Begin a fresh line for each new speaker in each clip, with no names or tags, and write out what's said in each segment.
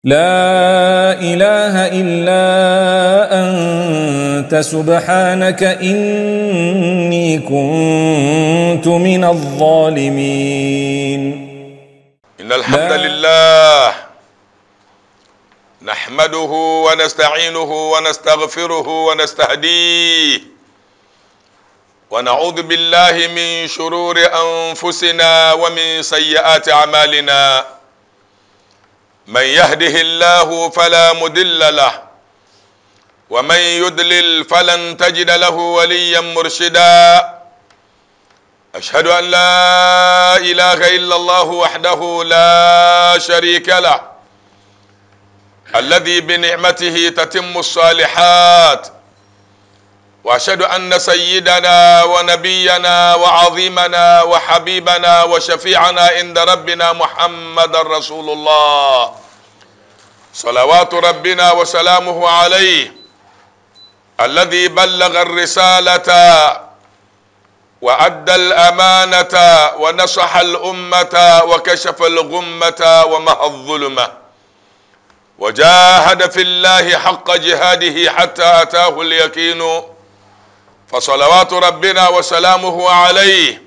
لا إله إلا أنت سبحانك إني كنت من الظالمين.
إن الحمد لله نحمده ونستعينه ونستغفره ونستهديه ونعوذ بالله من شرور أنفسنا ومن سيئات أعمالنا. من يهده الله فلا مضل له ومن يضلل فلن تجد له وليا مرشدا. أشهد أن لا إله إلا الله وحده لا شريك له الذي بنعمته تتم الصالحات، وأشهد أن سيدنا ونبينا وعظيمنا وحبيبنا وشفيعنا عند ربنا محمد رسول الله صلوات ربنا وسلامه عليه الذي بلغ الرسالة وأدى الأمانة ونصح الأمة وكشف الغمة ومحى الظلمة وجاهد في الله حق جهاده حتى أتاه اليقين. فصلوات ربنا وسلامه عليه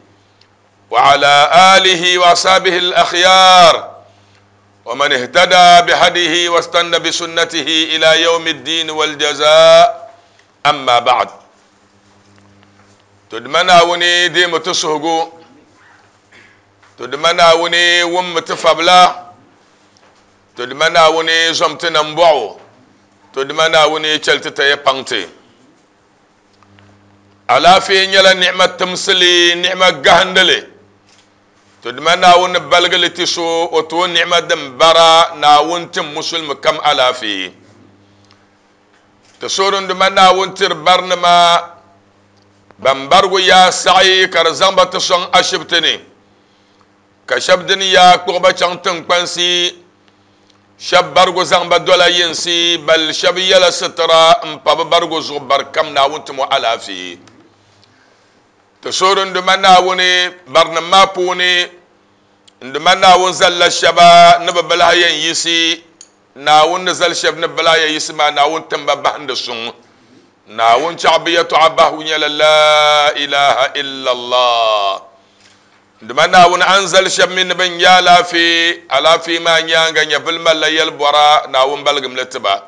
وعلى آله وأصحابه الأخيار ومن اهتدى بهديه واستنى بسنته إلى يوم الدين والجزاء. أما بعد، تدمنا وني دي متسهقو، تدمنا وني ومتفبلا، تدمنا وني زمتنا مبعو، تدمنا وني چلتتا يبانتي. alaafee nyɛla ni'ma timsili, ni'ma gahandili. To dima Naawuni baligili ti so o tooi ni'ma din bara Naawuni tim musulmi kam alaafee. Ti suurin dima Naawuni tiri barinima ban barigu yaa saɣi ka di zaŋ ba ti sɔŋ ashibiti ni, ka shɛba dini yaa kpuɣi ba chaŋ tiŋkpansi, shɛba barigu zaŋ ba dola yinsi, bal shɛba yɛla sitira n pa bi barigu zuɣu bari kam Naawuni timo alaafee. Ti suurin dima Naawuni barinim maa puuni n dima Naawuni zalila shɛba ni bi bilahi yɛn yisi, Naawuni ni zali shɛba ni bilahi yɛn yisi maa Naawuni timba bahindi suŋ. Naawuni chaɣ bi yɛtɔɣa bahigu nyɛla la ilaha illallah. Dima Naawuni an zali shɛba mi ni bɛ nya alaafee, alaafee maa nyaaŋa nyɛvili malila yɛlibɔra Naawuni baligim li tiba.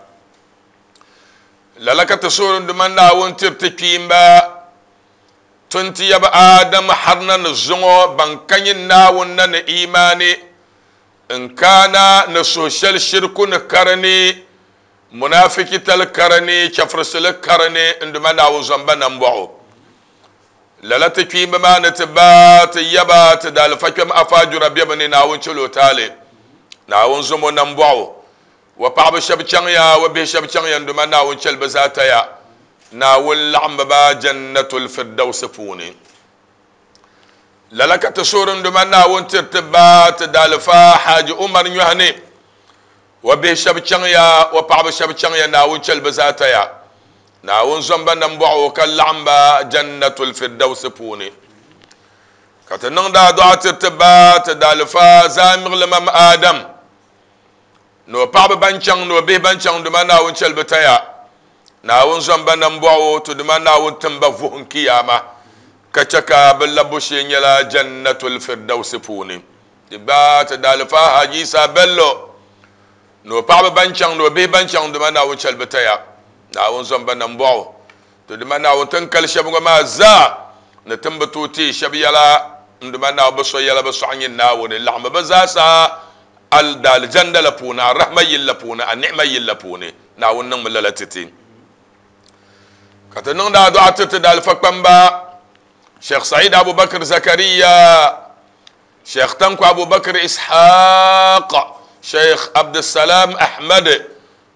Lala ka ti suhuri dima Naawuni tiri ti kpiimba tun ti yaba Adam har na ni zuŋɔ ban ka nyɛ Naawuni na ni imaani n kaana ni suhu shɛli shiriku ni kari ni munafiki tali kari ni chɛfurisili kari ni n dima Naawuni zɔmba nambɔɣu. Lala ti kpiimba maa ni ti ba ti yaba ti daalifa kpɛm afaajura bɛbu ni Naawuni chɛl o taali. Naawuni zɔmo nambɔɣu. Wa paɣaba shɛba chaŋya, wa bihi shɛba chaŋya n dima Naawuni chɛli bɛ zaa taya. Naawuni laɣimbi ba Jannatul Firdausi puuni. Lala ka ti suhuri n dima Naawuni tiri ti ba ti daalifa Haji Umar Nyɔhini. Wa bihi shɛba chaŋya, wa paɣaba shɛba chaŋya Naawuni chɛli bɛ zaa taya. Naawuni zɔmba nambɔɣu ka laɣim ba Jannatul Firdausi puuni. Ka ti niŋdi adua tiri ti ba ti daalifa Zaamiɣili Mam Adam ni o paɣaba ban chaŋ ni o bihi ban chaŋ duma Naawuni chɛli bɛ taya. Naawuni zɔmba nambɔɣu ti duma Naawuni tim ba vuhim kiyaama ka chɛ ka bɛ labbu shee nyɛla Jannatul Firdausi puuni. Ti gba ti daalifa Haji Isa Bello ni o paɣaba ban chaŋ ni o bihi ban chaŋ duma Naawuni chɛli bɛ taya. Naawuni zɔmba nambɔɣu ti duma Naawuni tin kali shɛba ŋɔ maa zaa ni tin bi tooi teei shɛba yɛla n duma Naawuni bi so yɛla bi sɔɣi nyɛ Naawuni laɣimbi bɛ zaa sa al daalijanda la puuni, a rahma yili la puuni, a ni'ma yili la puuni. Naawuni niŋmi lala ti ti. Ka ti niŋdi adua ti ti daalifa kpamba Sheikh Said Abubakar Zakariya, Sheikh Tanko Abubakar Ishaq, Sheikh Abdussalam Ahmad.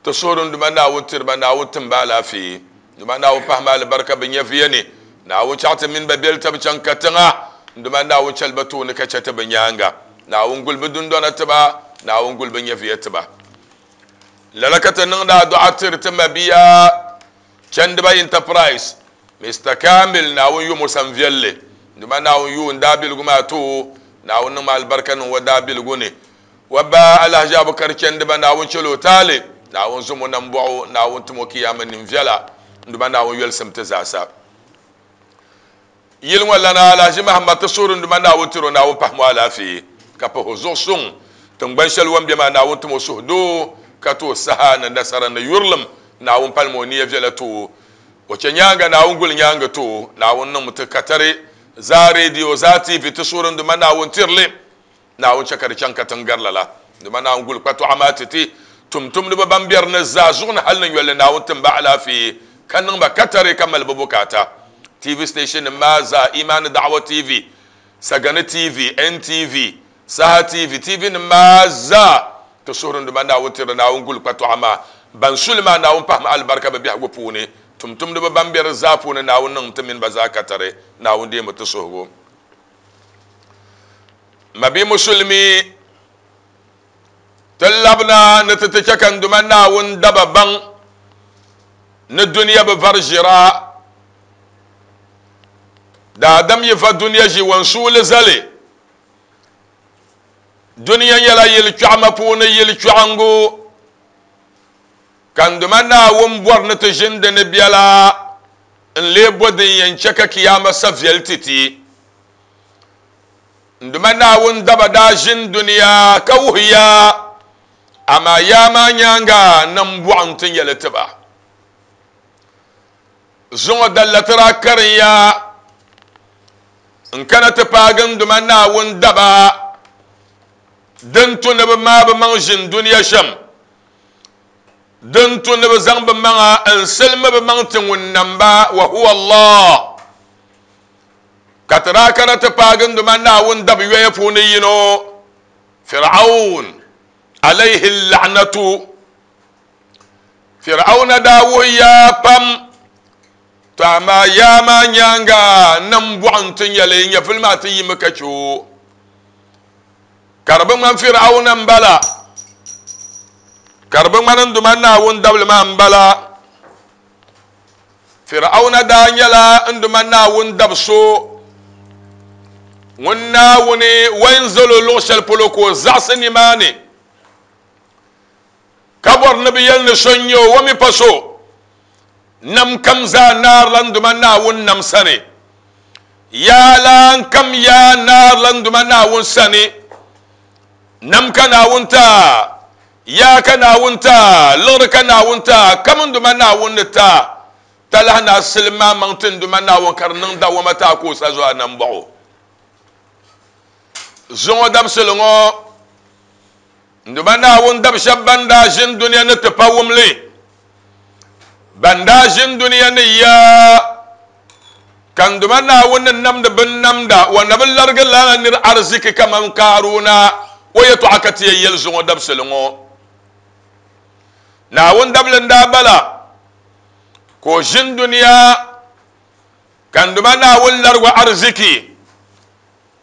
Ti suhuri n duma Naawuni tiriba, Naawuni timba alaafee, duma Naawuni pahima alibarika bɛ nyɛviya ni, Naawuni chaɣ ti mini ba beli tabi chaŋ katiŋa, duma Naawuni chɛli ba tooni ka chɛ ti bɛ nyaaŋa, Naawuni guli bɛ dundɔna tiba, Naawuni guli bɛ nyɛviya tiba. Lala ka ti niŋdi adua tiri ti mabia Chandiba Enterprise, Mister Kamil, Naawuni yum o sanviɛlli, duma Naawuni yuun daabiligu maa ti o, Naawuni niŋmi alibarika niŋ o daabiligu ni. Wa ba Alhaji Abukar chɛndiba Naawuni chɛl o taali, Naawuni zom o nambɔɣu, Naawuni tim o kiyaama ninviɛla, n-duba Naawuni yolisim ti zaasa. Yili ŋɔ lana Alhaji Mahamad ti suhuri n-duba Naawuni tiri o Naawuni pahim o alaafee ka pahi o zuɣu suŋ. Tiŋgbani shɛli o ni be maa Naawuni tim o suhudoo ka ti o saha ni nasara ni yurilim. Naawuni palim o nia viɛla ti o. O chɛ nyaaŋa Naawuni guli nyaaŋa ti o. Naawuni niŋmi ti katari zaa radio zaa TV ti suhuri n-duba Naawuni tiri li. Naawuni chɛ ka di chaŋ katiŋ gari lala. Dama Naawuni guli kpatɔɣa maa ti ti tumtumdiba ban be di ni zaa zuɣu ni hal ni yoli ni Naawuni tim ba alaafee ka niŋ ba katari ka mali bɛ bukaata. TV station nim maa zaa, Imaani Da'awa TV, Sagani TV, NTV, Saha TV, TV nim maa zaa ti suhuri ni dama Naawuni tiri Naawuni guli kpatɔɣa maa ban su li maa Naawuni pahimi alibarika bɛ biɛhigu puuni. Tumtumdiba ban be di zaa puuni Naawuni niŋm ti mini ba zaa katari. Naawuni deemi ti suhigu. Mabi Musulimi, ti labina ni ti ti chɛ ka n Duuma Naawuni daba baŋ ni dunia bi vari ʒira. Daadam yi va dunia ʒi wansuuli zali, dunia nyɛla yili kpɛɣima puuni yili kpɛɣingu, ka n Duuma Naawuni bɔri ni ti ʒini di ni biɛla n-lee bo din yɛn chɛ ka kiyaama sa viɛli ti ti. N Duuma Naawuni daba daa ʒini dunia ka wuhi ya, amaa yaa maa nyaaŋa nambɔɣu nti nyɛ li ti ba. Zuŋɔ dalla ti daa karin ya n-kana ti paagi n Duuma Naawuni daba din tu ni bɛ maai bɛ maŋ ʒini dunia shɛm, din tu ni bɛ zaŋ bɛ maŋa n-silimi bɛ maŋ ti ŋun nam ba, wa huwa Allah. Ka ti daa kana ti paagi n Duuma Naawuni dab yoya puuni yino, Fir'aun, alayhi la'natu. Fir'auna daa wuhi yaa pam, to amaa yaa maa nyaaŋa nambɔɣu nti nyɛ li, nyɛvili maa ti yimi ka chɛ o. Ka di bi ŋmani Fir'auna m-bala, ka di bi ŋmani n Duuma Naawuni dabili maa m-bala. Fir'auna daa nyɛla n Duuma Naawuni dab so ŋun Naawuni wain zal o luɣ shɛli polo ka o zaɣisi nimaani, ka bɔri ni bɛ yɛli ni so n-nyɛ o, o mi pa so. Nam kam zaa naarila n Duuma Naawuni nam sani. Yaalaan kam yaa naarila n Duuma Naawuni sani. Nam ka Naawuni ti a, yaa ka Naawuni ti a, liɣiri ka Naawuni ti a, kam n Duuma Naawuni ni ti a, talahi ni a silim maa maŋ ti n Duuma Naawuni ka di niŋ dawama ti a ka o sa zuɣu a nambɔɣu. Zuŋɔ dabisili ŋɔ, n Duuma Naawuni dab shɛb ban daa ʒini dunia ni ti pa wumli, ban daa ʒini dunia ni ya ka n Duuma Naawuni ni namdi binnamda, o na bi larigi lala nir ariziki kaman Kaaruna o yɛtɔɣa ka ti yɛn yɛli zuŋɔ dabisili ŋɔ. Naawuni dabili n-daa bala ka o ʒini dunia ka n Duuma Naawuni larigi o ariziki.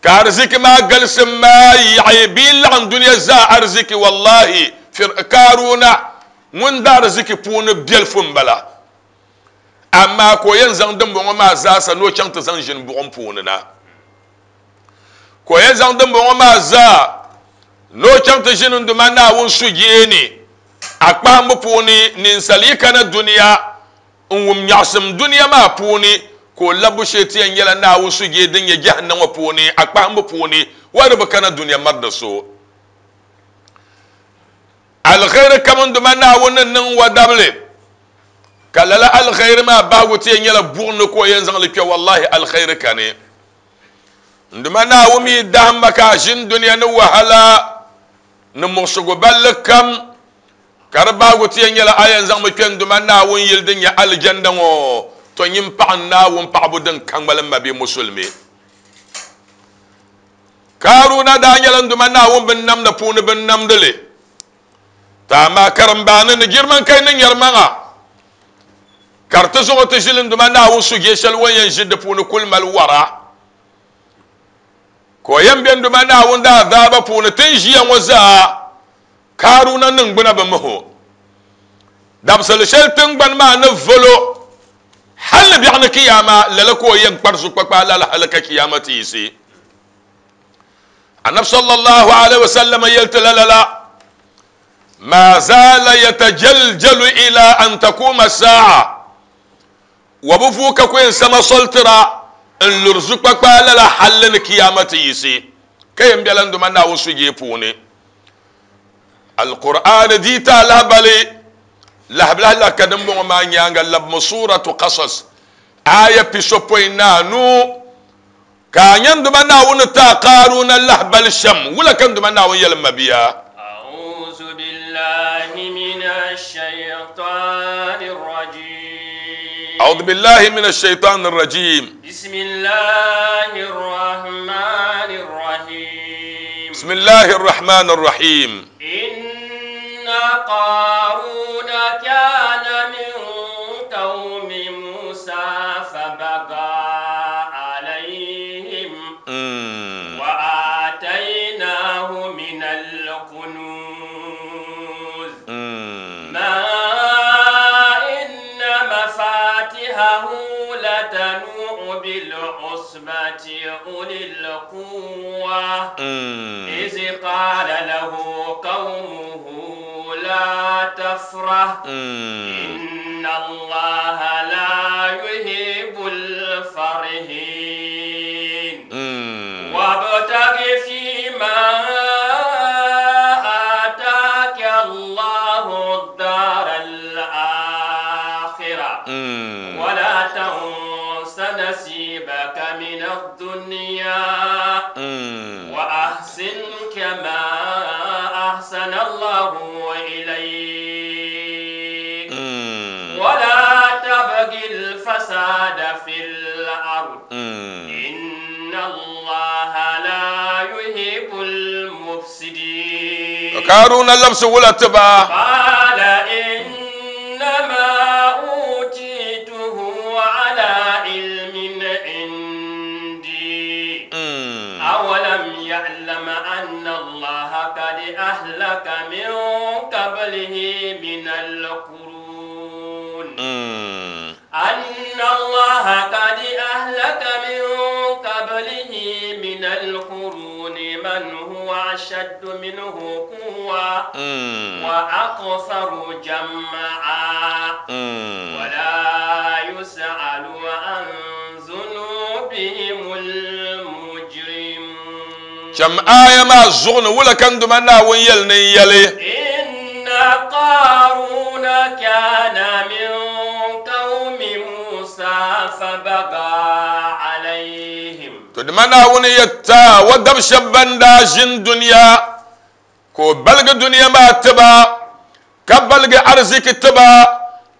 Ka ariziki maa galisim maa yaɣi bee laɣim dunia zaa ariziki, wallahi, Kaaruna ŋun da ariziki puuni biɛlifu m-bala. Amaa ka o yɛn zaŋ dimbɔŋɔ maa zaasa ni o chaŋ ti zaŋ ʒini buɣim puuni na. Ka o yɛn zaŋ dimbɔŋɔ maa zaa ni o chaŋ ti ʒini n-Duuma Naawuni sujee ni. A kpahimbu puuni, ninsal yi kana dunia n-wum nyaɣisim dunia maa puuni, ka o labbu shee ti yɛn nyɛla Naawuni sujee din nyɛ jahannam ŋɔ puuni, a kpahimbu puuni, wa di bi kana dunia mari di so. Alkhairi kam n Duuma Naawuni ni niŋ wa dabili, ka lala alkhairi maa bahigu ti yɛn nyɛla buɣim ni ka o yɛn zaŋ li kpe, wallahi alkhairi kani. N Duuma Naawuni mi dahim ma ka a ʒini dunia ni wahala ni muɣisigu balli kam, Ka di bahigu ti yɛn nyɛla a yɛn zaŋmi kpe n-Duuma Naawuni yili din nyɛ Alijanda ŋɔ, tɔ nyin paɣi n Naawuni paɣibu din ka ŋmali m mabia Musulimi. Kaaruna daa nyɛla n-Duuma Naawuni binnamda puuni binnamdili. Tɔ amaa karimbaani ni girmankai ni nyɛrimaŋa ka di ti zaŋ o ti ʒili n-Duuma Naawuni sujee shɛli o ni yɛn ʒi di puuni kuli mali wara. Ka o yɛn be n-Duuma Naawuni daazaaba puuni ti ni ʒiya ŋɔ zaa. Kaaruna niŋgbuna bi mihi o. Dabisili shɛli tiŋgbani maa ni volo hal ni biɛɣu ni kiyaama, lala ka o yɛn kpari zukpakpaa lala hal ka kiyaama ti yiɣisi. Annabi sallallahu alaihi wasallam yɛli ti la lala, Ma zala yatajaljalu ila an takuma sa'a. Wa bi vuui ka ku yɛn sama soli tira n luri zukpakpaa lala halli ni kiyama ti yiɣisi ka yɛn bela n Duuma Naawuni sujee puuni. Alkur'aani dii ti a lahabali lahibilahi la ka dimbɔŋɔ maa nyaaŋa labimi Suuratu Qasas aaya pisopɔin ni anu ka a nya n Duuma Naawuni ni ti a Kaaruuna lahabali shɛm. Wula ka n Duuma Naawuni yɛli m mabia?
أعوذ بالله من الشيطان الرجيم.
أعوذ بالله من الشيطان الرجيم.
بسم الله الرحمن الرحيم.
بسم الله الرحمن الرحيم.
إن قارون كان من قوم موسى فبغى عليهم وآتيناه من الكنوز ما إن مفاتحه لتنوء بالعصبة أولي القوة إذ قال له قومه لا تفرح إن الله لا يحب الفرحين وابتغ فيما آتاك الله الدار الآخرة ولا تنس نصيبك من الدنيا وأحسن كما أحسن الله إليك ولا تبغ الفساد في الأرض إن الله لا يحب المفسدين.
Karuna labsi wula tiba.
قال إنما أوتيته على علم عندي أولم يعلم أن الله قد أهلك من قبله من القرون أن الله قد أهلك من قبله من القرون من هو أشد منه قوة وأكثر جمعا ولا يسأل عن ذنوبهم المجرمون.
Cham aya maa zuɣu ni wula ka n Duuma Naawuni yɛli ni n yɛli.
إن قارون كان من قوم موسى فبغى عليهم.
To Duuma Naawuni yɛtta wa dab shɛba ban daa ʒini dunia ka o baligi dunia maa tiba ka baligi ariziki tiba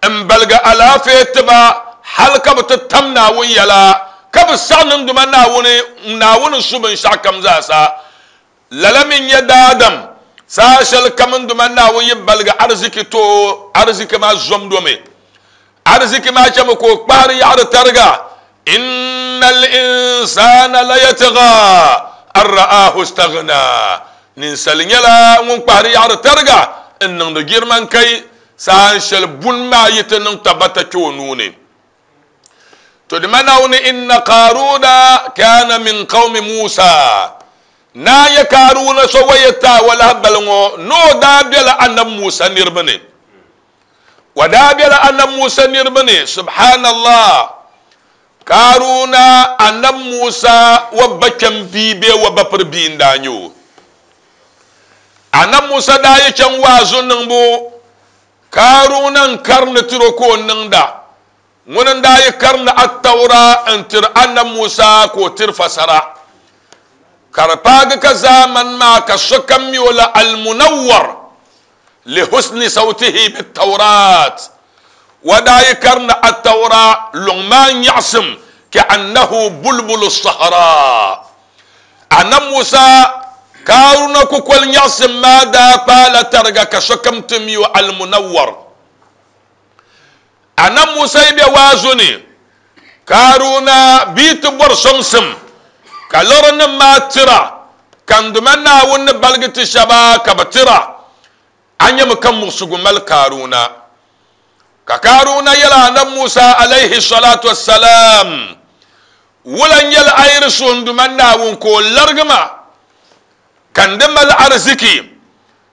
n baligi alaafee tiba hali ka bi ti tam Naawuni yɛla ka bi saɣi niŋ Duuma Naawuni Naawuni su binshɛɣu kam zaasa. Lala mi n-nyɛ daadam saha shɛli kam n Duuma Naawuni yi baligi ariziki ti o, ariziki maa zomdomi. Ariziki maa chɛmi ka o kpahiri yaɣiri tariga. Inna al-insana la yatgha an ra'ahu istaghna. Ninsali nyɛla ŋun kpahiri yaɣiri tariga n niŋdi girman kai saha shɛli buni maa yi ti niŋ tabata kpe o nuu ni. To di ma Naawuni inna Qaruna kana min qawmi Musa. Naa yɛ Karuna so wa yɛta wa lahabali ŋɔ ni o daa bela Annabi Musa niriba ni. Wa daa bela Annabi Musa niriba ni. Subhanallah. Karuna Annabi Musa wa ba kpɛm bia bee wa ba piri bia n-daa nyɛ o. Annabi Musa daa yi chaŋ waazu niŋbu Karuna n-karindi tiri o ka o niŋda. Ŋuni n-daa yi karindi Attaura n-tiri Annabi Musa ka o tiri fasara. Ka di paagi ka zaamani maa ka sokam mi o la Al-Munawwar li husni sawtihi bit-Tawrat. Wa daa yi karindi Attaura luŋ maa nyaɣisim ka'annahu bulbulu sahara. Annabi Musa Karuna kukoli nyaɣisim maa daa paala tariga ka sokam ti mi o Al-Munawwar. Annabi Musa yi be waazu ni, Karuna bia ti bɔri sɔŋsim ka lɔrinim maa tira ka n Duuma Naawuni ni baligi ti shɛba ka bɛ tira. A nyami ka muɣisigu mali Karuna. Ka Karuna yɛli Annabi Musa alayhi salatu wassalam, Wula n-nyɛli a yi di suhi n Duuma Naawuni ka o larigi ma? Ka n di mali ariziki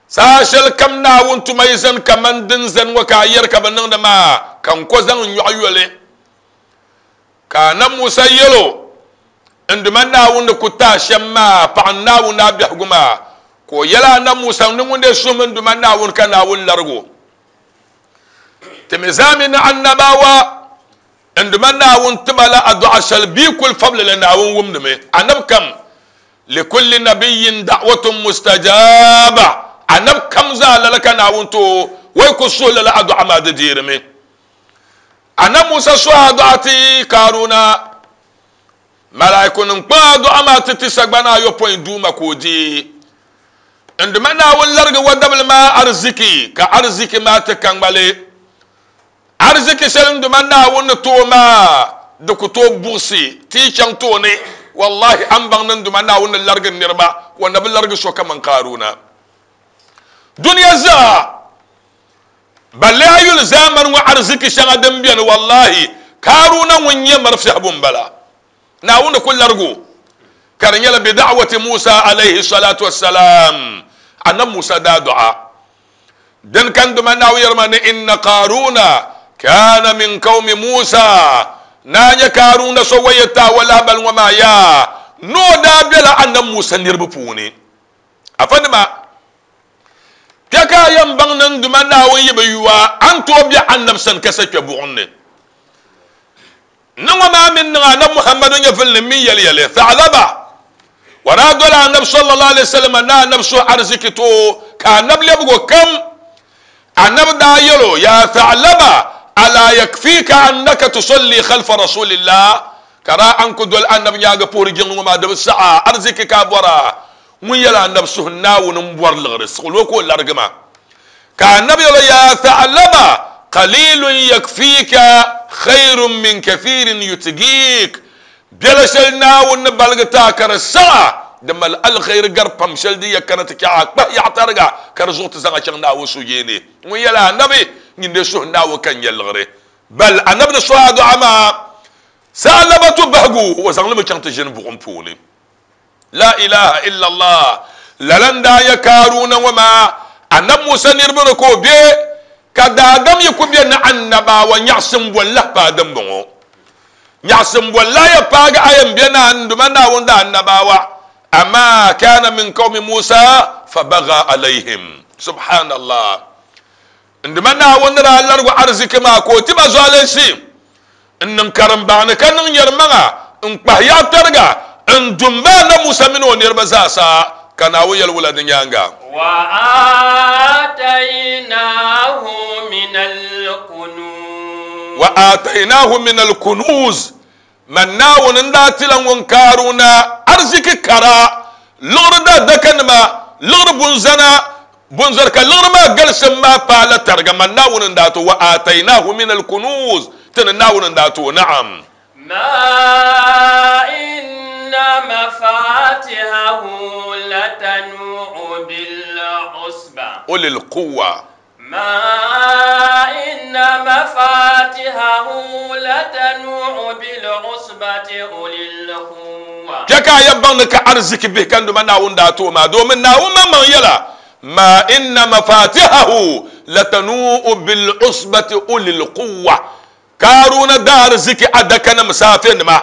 saha shɛli kam Naawuni tuma yi zani kaman din zani ŋɔ ka a yɛri ka bɛ niŋdi maa, ka n ko zaŋ n nyɔɣu yoli. Ka Annabi Musa yɛl o, N Duuma Naawuni ni ku ti a shɛm maa, paɣim Naawuni a biɛhigu maa. Ka o yɛli Annabi Musa ni ŋun dee suhimi n Duuma Naawuni ka Naawuni larig o. Ti mi zaa mi ni Annabawa N Duuma Naawuni tima la adu'a shɛli bɛ kuli fabili li Naawuni wumdimi. Annabi kam, Likulli nabiyyin da'watun mustajaba, Annabi kam zaa lala ka Naawuni ti o, o yi kuli suhi lala adu'a maa di deerimi. Annabi Musa suhi adu'a ti Karuna, Malaikunim kpaŋ adu'a maa ti ti sagbana ayopɔin Duuma ka o deei. N Duuma Naawuni larigi wa dabili maa ariziki, ka ariziki maa ti ka ŋmali. Ariziki shɛli n Duuma Naawuni ni ti o maa, di ku tooi buɣisi ti yi chaŋ tooni. Wallahi, a ni baŋ ni n Duuma Naawuni ni larigi niriba, o na bi larigi so kaman Karuna. Dunia zaa, balle a yuli zaamani ŋɔ ariziki shɛŋa din beni, wallahi, Karuna ŋun nyɛ marifiɛhibu m-bala. Naawuni ku larigi o, ka di nyɛla bi da'wati Musa alayhi salatu wassalam, Annabi Musa daa dɔɣa. Din ka n Duuma Naawuni yɛri ma ni inna Qaruna kana min qawmi Musa, naa nyɛ Karuna so wa yɛltɔɣa lahibali ŋɔ maa yaa ni o daa bela Annabi Musa niriba puuni. Afanima, kpe ka a yɛn baŋ ni n Duuma Naawuni yi bi yu a, a ni tooi be Annabi sani ka sa kpe buɣim ni. Ni ŋɔ maa mini niŋ Anabi Muhammadu nyɛvuli ni mini yɛli yɛli Tha'laba o daa doli Anabi sallallahu alaihi wasallam ni Anabi suhi ariziki ti o ka Anabi lɛbigi o kam. Anabi daa yɛli o, Ya Tha'laba ala yakfika annaka tusalli khalfa rasulillah ka daa an ku doli Anabi nyaaŋa puhiri jiŋli ŋɔ maa di bi saɣa ariziki ka a bɔra ŋun yɛli Anabi suhi Naawuni m-bɔri liɣiri siɣili o ka o larigi ma. Ka Annabi yɛl o, Yaa Tha'laba, qalilun yakfiika khayrun min kathirin yutgiik, Biɛla shɛli Naawuni ni baligi ti a ka di saɣ a, di mali alkhairi gari pam shɛli din ya kana ti chɛ a kpahi yaɣa tariga ka di zuɣu ti zaŋ a chaŋ Naawuni suhuyeeni. Ŋun yɛli Annabi, Nyin dee suhi Naawuni ka n-nya liɣiri. Bal Annabi ni suhi adu'a maa, Tha'labatu bahigu, o zaŋ li mi chaŋ ti ʒini buɣim puuni. La ilaha illallah. Lala n-daa nyɛ Kaaruna ŋɔ maa, Annabi Musa niriba ni ka o be, ka daadam yi ku be ni annabawa nyaɣisim bɔ n-lahi paai dimbɔŋɔ. Nyaɣisim bɔ n-lahi ya paagi a yɛn be ni a Duuma Naawuni daa annabawa, amaa kana min qawmi Musa fabagha alayhim. Subhanallah. N Duuma Naawuni ni daa larigi ariziki maa ka o ti ba zualinsi n-niŋ karimbaani ka niŋ nyɛrimaŋa n-kpahi yaɣ tariga n-du m-ba Annabi Musa mini o niriba zaasa, ka Naawuni yɛli wula di nyaaŋa? Wa aatainaahu min al-kunuuz Man Naawuni n-daa tila ŋun Kaaruna ariziki kara, liɣiri daadakanima, liɣiri bunzana, bunzɔri ka liɣiri maa galisim maa paai la tariga. Man Naawuni n-daa ti o, wa aatainaahu min alkunuuz, ti ni Naawuni n-daa ti o, na'am.
Ma inna mafatihahu latanu'u bil usba.
Ulil quwwa.
ما إن مفاتحه لتنوء بالعصبة أولي القوة.
Kpe ka a yɛn baŋ ni ka ariziki bihi ka n Duuma Naawuni daa ti o maa, domin Naawuni maŋmaŋ yɛla, Ma inna mafatihahu latanu'u bil'usbati ulil quwwa. Kaaruna daa ariziki adakanim saafenima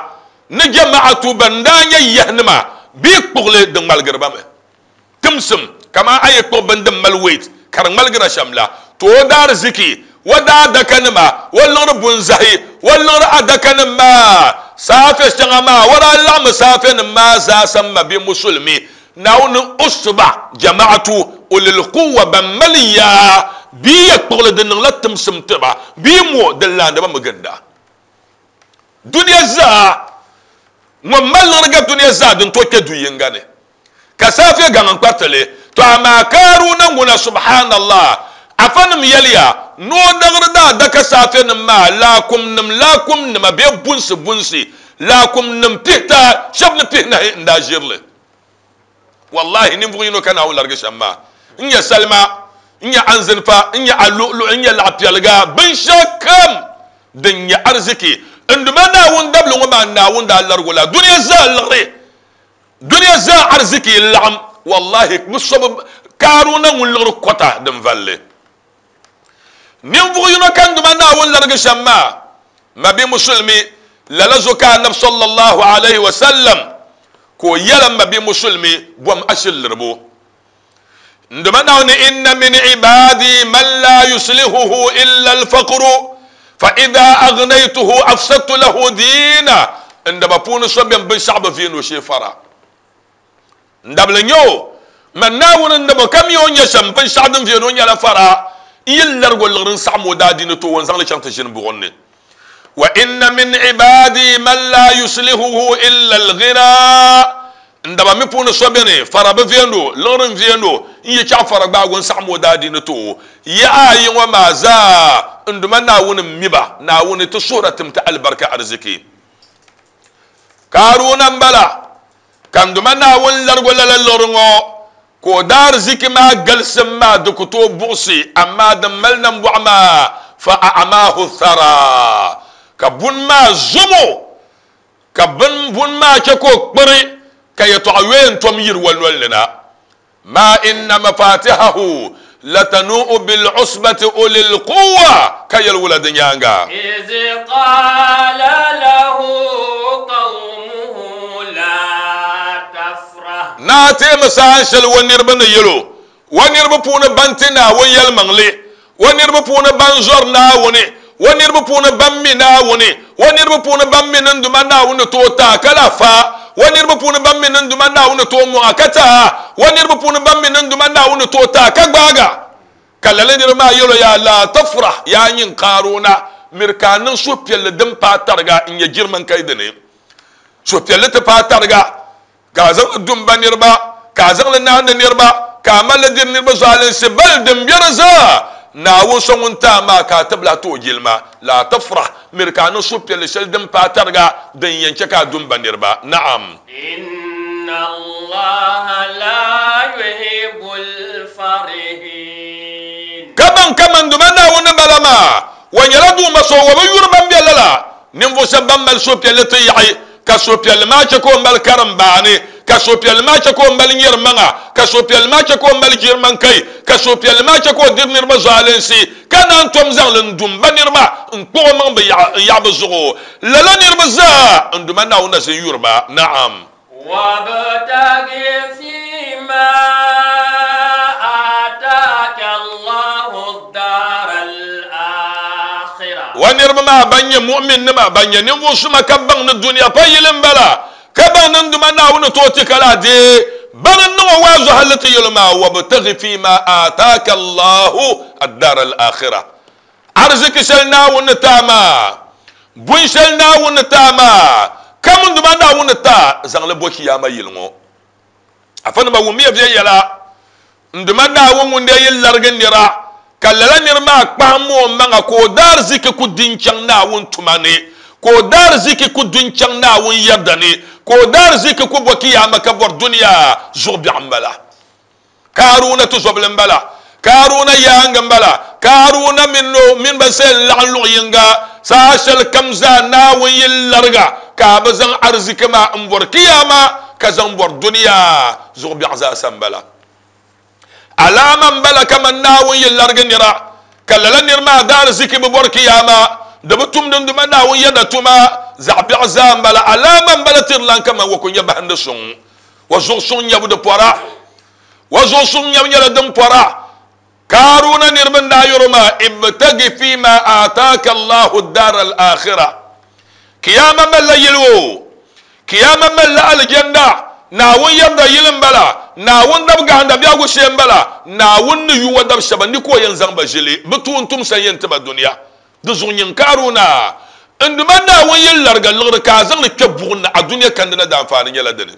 ni jama'atu ban daa nyɛ yahinima bɛ kpuɣili di ŋmaligiri ba mi. Timsim, kaman a yi kpuɣi bini din mali weight ka di ŋmaligira shɛm la, to o daariziki, o daadakanima, o liɣiri bunzahi, o liɣiri adakanim maa, saafe shɛŋa maa, o daa laɣimmi saafenim maa zaasa m-ma bɛ Musulimi Naawuni usba, jama'atu, ulil quwwa, ban mali yaa, bɛ ya kpuɣili di niŋla timsim ti ba, bɛ mo di laandi ba mi ginda. Dunia zaa, ŋun mali liɣiri gari dunia zaa din tooi kpe du yiŋga ni. Ka saafiya gaŋ n-kpariti li. Tɔ amaa Kaaruna ŋuna, subhanallah, afanim yɛliya ni o daŋri daadaka saafiyanim maa laakumnim laakumnima bee bunsi bunsi laakumnim pihita shɛb ni pihinahi n-daa ʒiri li. Wallahi ninvuɣ yino ka Naawuni larigi shɛm maa n-nyɛ salima, n-nyɛ anzinfa, n-nyɛ aluɣuluɣu, n-nyɛ laɣipiɛliga, binshɛɣukam din nyɛ ariziki. N Duuma Naawuni dabili ŋɔ maa Naawuni daa larigi o la dunia zaa liɣiri. Dunia zaa ariziki n-laɣim Wallahi bɛ so bi Kaaruna ŋun liɣiri kɔta din valli. Ninvuɣ yino ka n Duuma Naawuni larigi shɛm maa, mabi Musulimi, lala zuɣu ka Anabi sallallahu alaihi wa sallam ka o yɛli m mabi Musulimi, bom ashili liribu. N Duuma Naawuni, inna min ibadi man la yuslihuhu illa al-faqru fa idha aghnaytuhu afsadtu lahu dina. N daba puuni so beni binshɛɣu bi viini o shee fara. N dabili n-nyɛ o, Man Naawuni n-daba ka mi o ni nyɛ shɛm, binshɛɣu din viɛli o nyɛla fara, n yi larig o liɣiri n-saɣim o daadiini ti o, n zaŋ li chaŋ ti ʒini buɣim ni. Wa inna min ibaadi man laa yuslihuhu illa al-ghinaa, N daba mi puuni so beni, fara bi viɛnd o, liɣiri n-viɛnd o, n yi chaɣ fara gbaag o n-saɣim o daadiini ti o. Yaha ayi ŋɔ maa zaa, n Duuma Naawuni m-mi ba, Naawuni ti suhira tim ti alibarika ariziki. Kaaruna m-bala. Ka n Duuma Naawuni larigi o lala liɣiri ŋɔ, ka o daariziki maa galisim maa di ku tooi buɣisi, amaa din mali nambɔɣu maa, fa a'amaahu thara, ka buni maa zom o, ka buni maa chɛ ka o kpiri, ka yɛtɔɣa yoya n-tom yiri o noli ni na. Ma inna mafatihahu latanu'u bil'usbati ulil quwwa, ka yɛli wula di nyaaŋa?
Iz qala lahu qawmuhu la tafrah.
Naa teemi saha shɛli o niriba ni yɛl o, O niriba puuni ban ti Naawuni yɛlimaŋli, O niriba puuni ban zɔri Naawuni, O niriba puuni ban mi Naawuni, O niriba puuni ban mi ni n Duuma Naawuni ni tooi ti a ka lahi fa, O niriba puuni ban mi ni n Duuma Naawuni ni tooi mɔŋ a ka ti a, O niriba puuni ban mi ni n Duuma Naawuni ni tooi ti a ka gbaag a. Ka lala niriba maa yɛl o, Yaa laa tafrah, yaa nyin Kaaruna, miri ka a niŋ suhupiɛlli din paai tariga n-nyɛ jirimaŋkai dini. Suhupiɛlli ti paai tariga. Ka a zaŋ li du m-ba niriba, ka a zaŋ li naandi niriba, ka a mali li diri niriba zualinsi bali din be di zaa. Naawuni so ŋun ti a maa ka a ti bi lahi ti o jilima. Laa tafrah, miri ka a niŋ suhupiɛlli shɛli din paai tariga din yɛn chɛ ka a du m-ba niriba. Naam.
Inna Allaha laa yuhibbul farihin.
Ka baŋ kaman Duuma Naawuni ni bala maa, o nyɛla Duuma so o bi yuri ban be lala. Ninvuɣ shɛb ban mali suhupiɛlli ti yaɣi, ka suhupiɛlli maa chɛ ka o mali karimbaani, ka suhupiɛlli maa chɛ ka o mali nyɛrimaŋa, ka suhupiɛlli maa chɛ ka o mali jirimaŋkai, ka suhupiɛlli maa chɛ ka o diri niriba zualinsi, ka naan tom zaŋ li n-du m-ba niriba n-kpuɣ omaŋ bɛ n-yaɣi bɛ zuɣu. Lala niriba zaa, n Duuma Naawuni na zin yuri ba. Naam.
Wabtaghi fima ataka Allahu ad-dar al-akhirah.
Wa niriba maa ban nyɛ mu'minnima, ban nyɛ ninvuɣ suma ka baŋ ni dunia pa yili m-bala, ka baŋ ni n Duuma Naawuni tooi ti ka lahi deei bani n-niŋ o waazu hali ti yɛl o maa, Wabtaghi fima ataka Allahu ad-dar al-akhirah. Ariziki shɛli Naawuni ni ti a maa, bun shɛli Naawuni ni ti a maa, kam n Duuma Naawuni ni ti a, zaŋ li bo Chiyaama yili ŋɔ. Afanima wummiya viɛnyɛla, n Duuma Naawuni ŋun dee yi larigi nira, ka lala nir maa kpahim o maŋa ka o daariziki ku di n-chaŋ Naawuni tuma ni, ka o daariziki ku du n-chaŋ Naawuni yɛrida ni, ka o daariziki ku bo Chiyaama ka bɔri dunia zuɣu biɛɣu m-bala. Kaaruna tuzɔbili m-bala, Kaaruna yaaŋa m-bala, Kaaruna mini o mini ba zaya n-laɣim luɣ yiŋga. Saha shɛli kam zaa Naawuni yi lariga ka a bi zaŋ ariziki maa m-bɔri kiyaama ka zaŋ bɔri dunia zuɣu biɛɣu zaa sa m-bala. Alaama m-bala kaman Naawuni yi larigi nira ka lala nir maa daariziki bi bɔri kiyaama, di bi tumdi n Duuma Naawuni yɛda tuma, zaɣ biɛɣu zaa m-bala. Alaama m-bala tirilan kaman o ku nya bahindi suŋ. Wa zuɣu suŋ nyabu di pɔra. Wa zuɣu suŋ nyabu nyɛla din pɔra. Kaaruna niriba n-daa yɛr o maa, Ibtagi fima aataaka Allahu dar al-akhira. Kiyaama malila yili o. Kiyaama malila alijanda. Naawuni yɛrida yili m-bala. Naawuni dab gahinda biɛhigu shee m-bala. Naawuni ni yu o dab shɛba ni ka o yɛn zaŋ ba ʒili bɛ tuuntumsa n-yɛn ti ba dunia. Di zuɣu nyin Kaaruna, n Duuma Naawuni yi lariga liɣiri ka a zaŋ li kpe buɣim ni, a dunia kandina daanfaani nyɛla dini.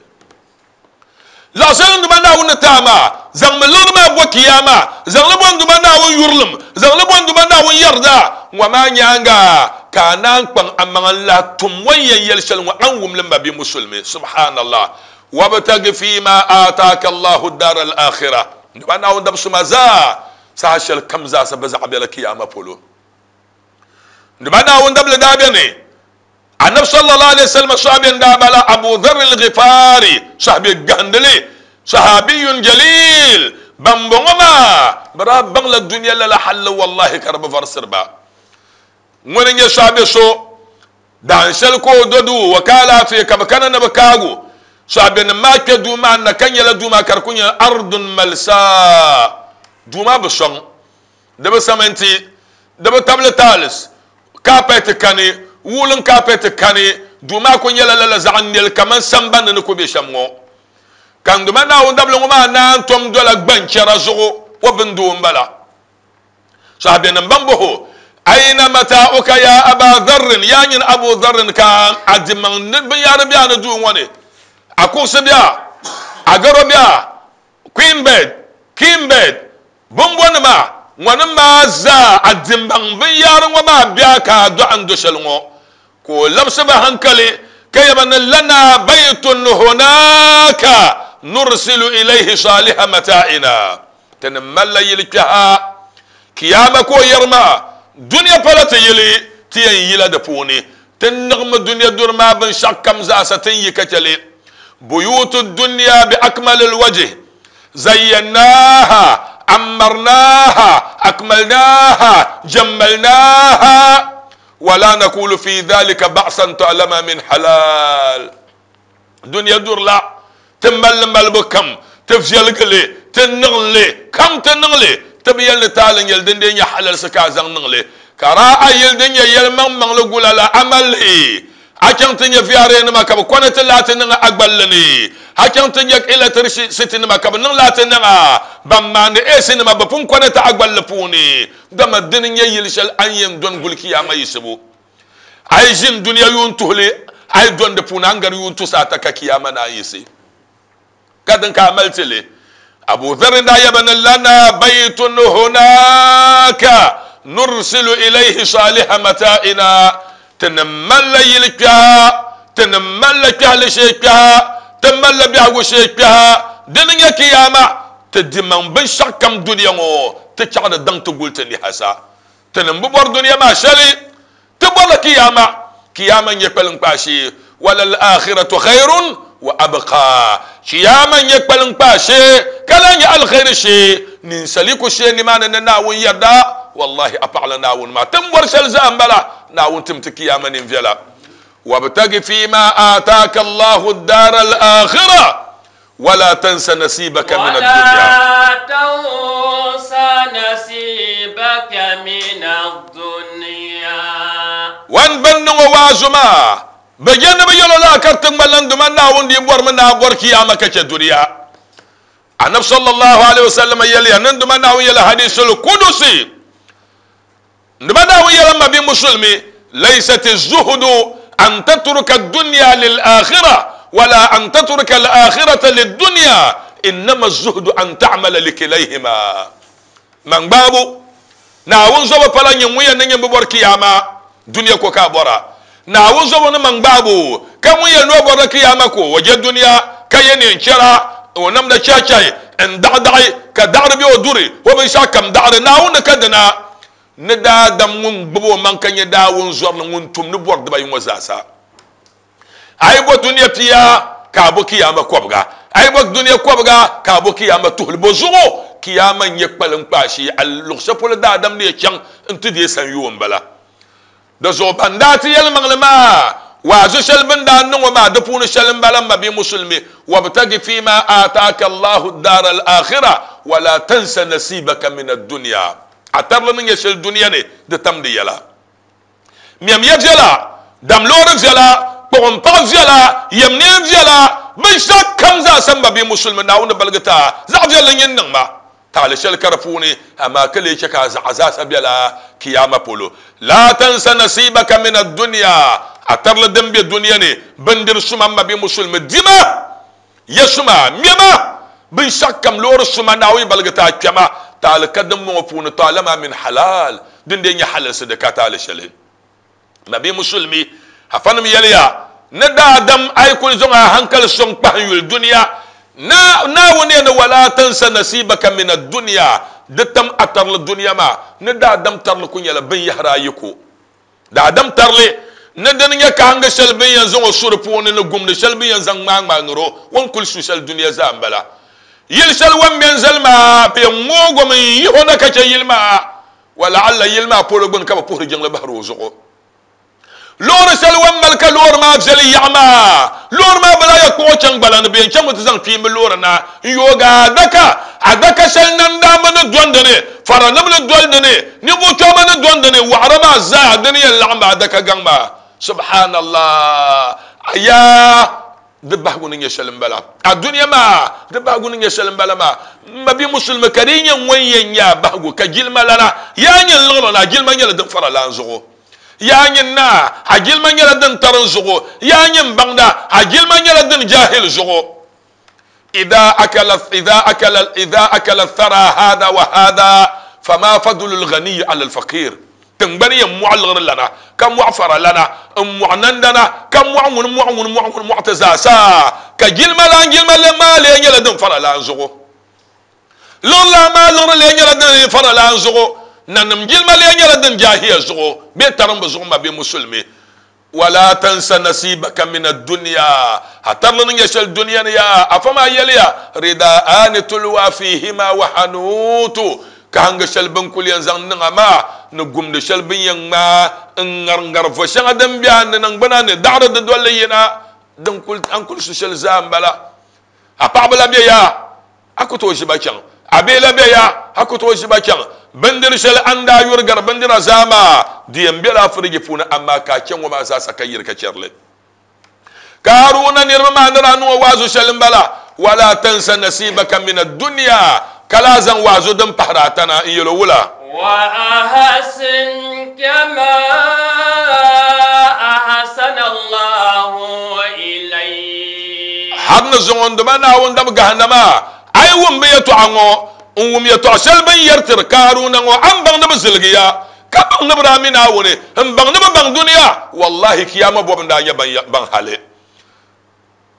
Laɣ shɛli n Duuma Naawuni ni ti a maa, zaŋmi liɣiri maa bo kiyaama, zaŋ li bo n Duuma Naawuni yurilim, zaŋ li bo n Duuma Naawuni yarida. Ŋɔ maa nyaaŋa ka a naan kpaŋ amaŋa n-lahi tum o ni yɛn yɛli shɛli ŋɔ, a ni wum li m-ma bia Musulimi. Subhaanallah. Wabtagi fiima aataaka Allahu daar al-aakhira. N Duuma Naawuni dabisuma zaa, saha shɛli kam zaasa bɛ zaɣa bela kiyaama polo. Duba Naawuni dabili daa beni, Anabi sallallahu alaihi wasallam sahabi n daa bala Abu Dharr al-Ghifari, sahabi gahindili. Sahabiyun jalil, bambɔŋɔ maa bɛ daa baŋla dunia lala halli wallahi ka di bi varisiri ba. Ŋuni n-nyɛ sahabi so dahin shɛli ka o do duu o ka alaafee ka bɛ kana ni bɛ kaagu sahabinim maa kpe duu maa ni na ka nyɛla duu maa ka di kuli nyɛla ardun malsa, duu maa bi sɔŋ, di bi saminti, di bi tabili tiles, Kaapɛti kani, wuulin kaapɛti kani, duu maa kuli nyɛla lala zaɣ nɛli kaman sambani ni ku be shɛm ŋɔ. Ka n Duuma Naawuni dabili ŋɔ maa naan tom dola gbanchɛra zuɣu o bindoo m-bala. Sahabianim ban bɔh o, Aina mata'uka ya Aba Dharrin, Yaa nyini Abu Dharrin, ka a dimaŋ ni binyahari be a ni duu ŋɔ ni? A kuɣusi be a? A garo be a? Queen bed, king bed, Bimbɔnima, ŋɔnim maa zaa a dimbaŋ binyahari ŋɔ maa be a ka a dɔɣi n-do shɛli ŋɔ. Ka o labisi ba haŋkali ka yɛba ni, Lana baytun hunaka nursilu ilayhi saliha mata'ina. Ti ni malila yili kpɛha Kiyaama ka o yɛri maa, Dunia pala ti yili, ti yɛn yila di puuni. Ti niŋmi dunia duri maa binshɛɣu kam zaasa ti ni yi ka chɛ li. Buyutu dunia bi akmalil wajih. Zayyannaaha, ammarnaaha, akmalnaaha, jammalnaaha, wala nakulu fi dhalika ba'san ta'lama min halal. Dunia duri la, ti mali li malibu kam, ti viɛligi li, ti niŋ li kam, ti niŋ li, ti bi yɛli ni taali n-nyɛ li din dee nyɛ halalsi ka a zaŋ niŋ li. Ka daa a yili din nyɛ yɛlimaŋmaŋli gula la, a mali li. A chaŋ ti nya VRA nima ka bɛ kɔnɛti laati niŋ a gballi ni. A chaŋ ti nya electricity nima ka bɛ niŋ laati niŋ a. Ban maandi AC nima bɛ pun kɔnɛti a gballi puuni. Dama dini n-nyɛ yili shɛli a ni yɛn dɔni guli kiyaama yiɣisibu. A yi ʒini dunia yuun tuhili, a yi dɔni di puuni a ni gari yuun tusa ata ka kiyaama naan yiɣisi. Ka din ka a mali ti li. Abu Dharr daa yaba ni lana baytun hunaka nursilu ilayhi saliha mata'ina, ti ni malila yili kpɛha, ti ni malila kpɛhili shee kpɛha, ti malila biɛhigu shee kpɛha, dini nyɛ kiyaama, ti dimaŋ binshɛɣu kam dunia ŋɔ ti chaɣ ni daŋ ti guli ti niha sa. Ti ni bi bɔri dunia maa shɛli, ti bɔrila kiyaama. Kiyaama n-nyɛ kpaliŋkpaa shee. Walal-aakhiratu khayrun wa abqaa. Kiyaama n-nyɛ kpaliŋkpaa shee, ka lahi nyɛ alkhairi shee. Ninsali ku shee nimaani ni Naawuni yarda, wallahi a paɣila Naawuni maa. Ti ni bɔri shɛli zaa m-bala, Naawuni tim ti kiyaama ninviɛla. Wabtagi fiima aataaka Allahu ad-daara al-aakhira. Wala tansa nasibaka min ad-dunya.
Wala tansa nasibaka min ad-dunya.
Wan ban niŋ o waazu maa, bɛ je ni bɛ yɛl o laa ka di ti ŋmanila n Duuma Naawuni dii bɔrimi ni a bɔri kiyaama ka chɛ dunia. Anabi sallallahu alaihi wasallam yɛliya ni n Duuma Naawuni yɛli hadisul kudusi, N Duuma Naawuni yɛla m mabia musulimi, Laysati zuhudu an tatruka dunya lil-akhirah wala an tatruka al-akhirata lid-dunya, innama zuhudu an ta'mala likilayhima. Man gbaabu, Naawuni zobu pala nyɛ ŋun yɛn ni nyɛ m bi bɔri kiyaama dunia ko ka a bɔra. Naawuni zobu ni man gbaabu ka ŋun yɛn ni o bɔrila kiyaama ko o je dunia ka ye neen chɛra, o namda chɛhichɛhi n-daɣidaɣi ka daɣiri be o duri, o binshɛɣu kam daɣiri. Naawuni ni ka dina ni daadam ŋun gbubi o maŋ ka nyɛ Daawuni zɔrili ŋun tum ni bɔri dibayi ŋɔ zaasa. A yi bo dunia pia, ka a bo kiyaama kɔbiga. A yi bo dunia kɔbiga, ka a bo kiyaama tuhili. Bɔ zuɣu kiyaama n-nyɛ kpaliŋkpaa shee. A luɣ shɛli polo daadam ni yɛn chaŋ nti deei sanyoo m-bala. Di zuɣu ban daa ti yɛlimaŋli maa waazu shɛli bɛ ni daa niŋ o maa di puuni shɛli m-bala, M mabia Musulimi, wabtagi fima aataaka Allahu daara al-akhira wala tansa nasibaka min ad-dunya. A tarili ni nyɛ shɛli dunia ni, di tam di yɛla. Mɛm ya viɛla, dam loori viɛla, kpuɣim paɣ viɛla, yɛm neen viɛla, binshɛɣu kam zaa sa m mabia Musulimi, Naawuni ni baligi ti a zaɣ viɛlli nyin niŋ ma. Taali shɛli ka di puuni, amaa ka lee chɛ ka a zaɣa zaasa bela Kiyaama polo. Laa tansa nasiibaka mina dunia, a tarili din be dunia ni, bindiri suma m mabia Musulimi, dima, ya suma, ŋmɛma, binshɛɣu kam, loori suma, Naawuni baligi ti a kpɛma, taali ka dimbɔŋɔ puuni, taalama min halal, din dee nyɛ halalsi di ka taali shɛli. Nabi Musulmi, afanim yɛliya, Ni daadam a yi kuli zaŋ a hankali sɔŋ kpahi yuli dunia, na Naawuni yɛli ni wala tansa nasibaka mina dunia, di tam a tarili dunia maa, ni daadam tarili ku nyɛla binyahiri ayi ko. Daadam tarili, ni dini nyɛ kahingi shɛli bɛ ni yɛn zaŋ o su di puuni ni gumdi shɛli bɛ ni yɛn zaŋ ŋmaai ŋmaai niri o, o ni kuli su shɛli dunia zaa m-bala. Yili shɛli o ni mɛ n-zali maa, bɛ yɛn ŋoog o mi n-yih o na ka chɛ yili maa. Walaalla yili maa polo gbini ka bɛ puhiri jiŋli bahiri o zuɣu. Loori shɛli o ni mali ka loori maa viɛli yaɣa maa, loori maa bi lahi yɛn kpuɣ o chaŋ gbala ni, bɛ yɛn chaŋmi ti zaŋ kpiimba loori na n-yoogi adaka. Adaka shɛli nandaamba ni dɔni di ni, faranim ni doli di ni, ninvuɣ kpɛma ni dɔni di ni, waɣira maa zaa di ni yɛn laɣim ba adaka gaŋ maa. Subhanallah! Ayaa! Di bahigu ni nyɛ shɛli m-bala. A dunia maa, di bahigu ni nyɛ shɛli m-bala maa. M mabia musulimi, ka di yi nyɛ ŋun yɛn nyɛ a bahigu ka jilima lana, yaa nyini liɣiri ni a jilima nyɛla din fara lan zuɣu. Yaa nyini naa, a jilima nyɛla din tarim zuɣu. Yaa nyini baŋda, a jilima nyɛla din jahil zuɣu. Idha akala, idha akala, idha akala thara hada wa hada, fama fadlu al-ghaniyi ala al-faqir. Tiŋgbani yɛn mɔɣi liɣiri lana, ka mɔɣi fara lana, n-mɔɣi nandana, ka mɔɣi ŋuni mɔɣi ŋuni mɔɣi ŋuni mɔɣi ti zaa sa, ka jilima lan jilima li maa lee nyɛla din fara lan zuɣu. Liɣiri lan maa liɣiri lee nyɛla din fara lan zuɣu. Nanim jilima lee nyɛla din jahiya zuɣu bee tarimbu zuɣu ma bɛ musulimi. Wala tansa nasibaka mina dunya, a tarili ni nyɛ shɛli dunia ni yaa, afa maa yɛliya, Ridaani tulwa fihima wa hanuutu, kahiŋgi shɛli bɛ ni kuli yɛn zaŋ niŋ a maa, ni gumdi shɛli bɛ ni yɛn ŋmaai n-ŋariŋari vo shɛŋa din be a ni niŋgbuna ni daɣiri di dolli yina, din kuli, a ni kuli su shɛli zaa m-bala. A paɣaba la be ya, a ku tooi ʒi ba chaŋ. A bihi la be ya, a ku tooi ʒi ba chaŋ. Bindiri shɛli a ni daa yuri gari bindira zaa maa, di yɛn bela a firiji puuni, amaa ka a chɛ ŋɔ maa zaasa ka yiri ka chɛri li. Ka Haruna niriba maa ni daa niŋ o waazu shɛli m-bala, Wala tansa nasibaka mina dunia, ka lahi zaŋ waazu din pahiri ata na n-yɛl o wula?
Wa ahsin kama ahsana Allahu ilayk.
Har ni zuŋɔ n dima Naawuni dab gahindama, a yi wum bɛ yɛtɔɣa ŋɔ, n wum yɛtɔɣ shɛli bɛ ni yɛri tiri Kaaruna ŋɔ, a ni baŋ ni bɛ ziligiya, ka baŋ ni bɛ daa mi Naawuni, m baŋ ni bɛ baŋ dunia, wallahi kiyama bɔbu n-daa nyɛ ban hali.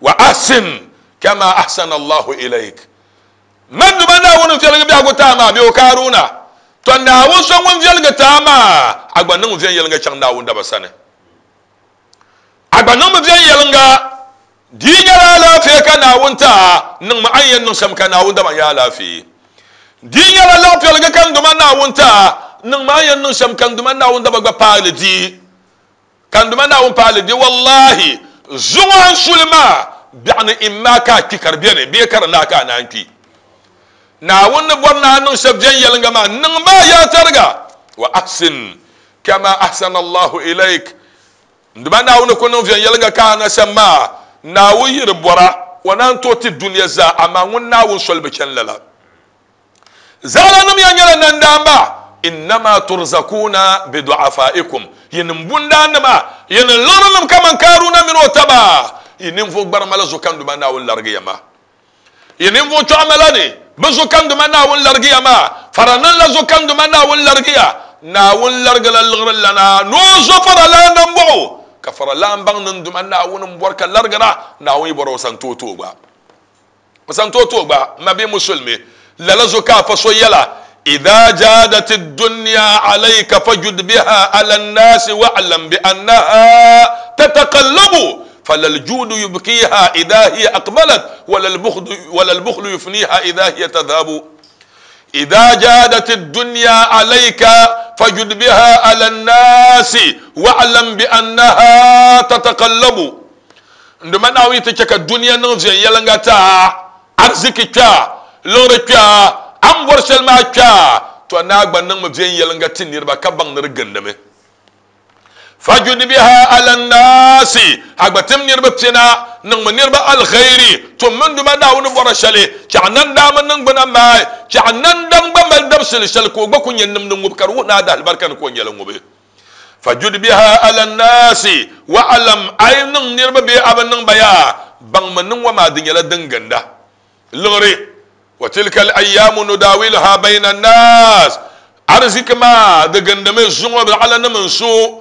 Wa ahsin kama ahsana Allahu ilayk. Man duma Naawuni n-viɛligi biɛhigu ti a maa, bee o Kaaruna? Tɔ! Naawuni so ŋun viɛligi ti a maa, a gba niŋmi viɛnyɛliŋga chaŋ Naawuni daba sani. A gba niŋmi viɛnyɛliŋga. Di yi nyɛla alaafee ka Naawuni ti a, niŋmi a ni yɛn niŋ shɛm ka Naawuni daba nya alaafee. Di yi nyɛla laɣipiɛliga ka n duma Naawuni ti a, niŋmi a ni yɛn niŋ shɛm ka n duma Naawuni daba gba paai li di. Ka n Duuma Naawuni paai li di, wallahi, zuŋɔ a ni suli maa, biɛɣuni imma ka a kpi ka di beni bee ka di naai ka a naan kpi. Naawuni ni bɔri ni a niŋ shɛb viɛnyɛliŋga maa, niŋ maa yaa tariga, wa ahsin kama ahsana Allahu ilayk. N Duuma Naawuni ku niŋ viɛnyɛliŋga ka a na shɛm maa, Naawuni yi di bɔra, o naan tooi ti dunia zaa, amaa ŋun Naawuni soli bi chani lala. Zaɣilanim ya nyɛla nandaamba, innama turzakuuna bidu'afaikum, yinim bundaannima, yinim liɣirinim kaman Kaaruna mini o taba, yi ninvuɣ gbarima la zo kanduma Naawuni larigi ya maa. Yi ninvuɣ chɔɣima la ni bi zo kanduma Naawuni larigi ya maa, faranim la zo kanduma Naawuni larigi ya. Naawuni larigila liɣiri lana ni o zo faralan nambɔɣu, ka faralan baŋ ni n Duuma Naawuni m-bɔri ka larigira, Naawuni yi bɔri o sani tooi ti o gba. O sani tooi tooi gba, m mabia musulimi, lala zuɣu ka a fa so yɛla, Idha jadati dunya alayka fajud biha ala nnasi wa'lam bi annaha tataqallabu falal judu yubqiha idha hiya aqbalat wala al-bukhlu yufniha idha hiya tadhhabu. Idha jadati dunya alayka fajud biha ala nnasi wa'lam bi annaha tataqallabu. N Duuma Naawuni yi ti chɛ ka dunia niŋ viɛnyɛliŋga ti a, ariziki kpe a, liɣiri kpe a, a ni bɔri shɛli maa kpe a, tɔ ni a gba niŋmi viɛnyɛliŋga ti niriba ka baŋ ni di gindimi. Fajud biha ala nnaasi, a gba tim niriba pina, niŋmi niriba alkhairi, tummi n Duuma Naawuni bɔra shɛli, chɛ a nandaamba niŋgbuna maai, chɛ a nandani gba mali dabisili shɛli ka o gba ku nya nimdi ŋubi ka di wuhi ni a daalibarika ni ka o nyɛli ŋubi. Fajud biha ala nnaasi wa'alam, a yi niŋ niriba bee a bi niŋ ba yaa, baŋmi ni ŋɔ maa di nyɛla din ginda liɣiri. Wa tilka al-ayaamu nudawiluha bayna nnaas, ariziki maa di gindimi zuŋɔ biɛɣulanim n-su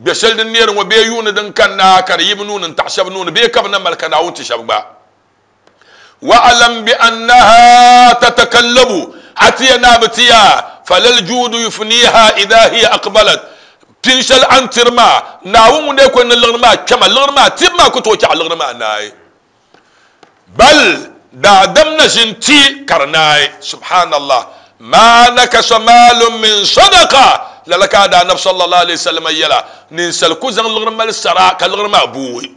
gbɛ shɛli din neeri ŋɔ bee yuuni din kanna ka di yi bɛ nuu ni n-taɣi shɛba nuu ni bee ka bɛ na mali ka Naawuni ti shɛba gba. Wa'alam bi annaha tatakallabu, a ti ya naa bi ti ya, falal juudu yufniha idha hiya aqbalat, pin shɛli a ni tiri maa, Naawuni ŋun dee ko ni liɣiri maa kpɛma, liɣiri maa tibu maa ku tooi chaɣ liɣiri maa naai. Bal Daadam na ʒin ti ka di naai. Subhanallah. Ma nakasa maalun min sadaqa. Lala ka a daa Anabi sallallahu alaihi wasallam yɛla, ninsal ku zaŋ liɣiri mali sara ka liɣiri maa booi.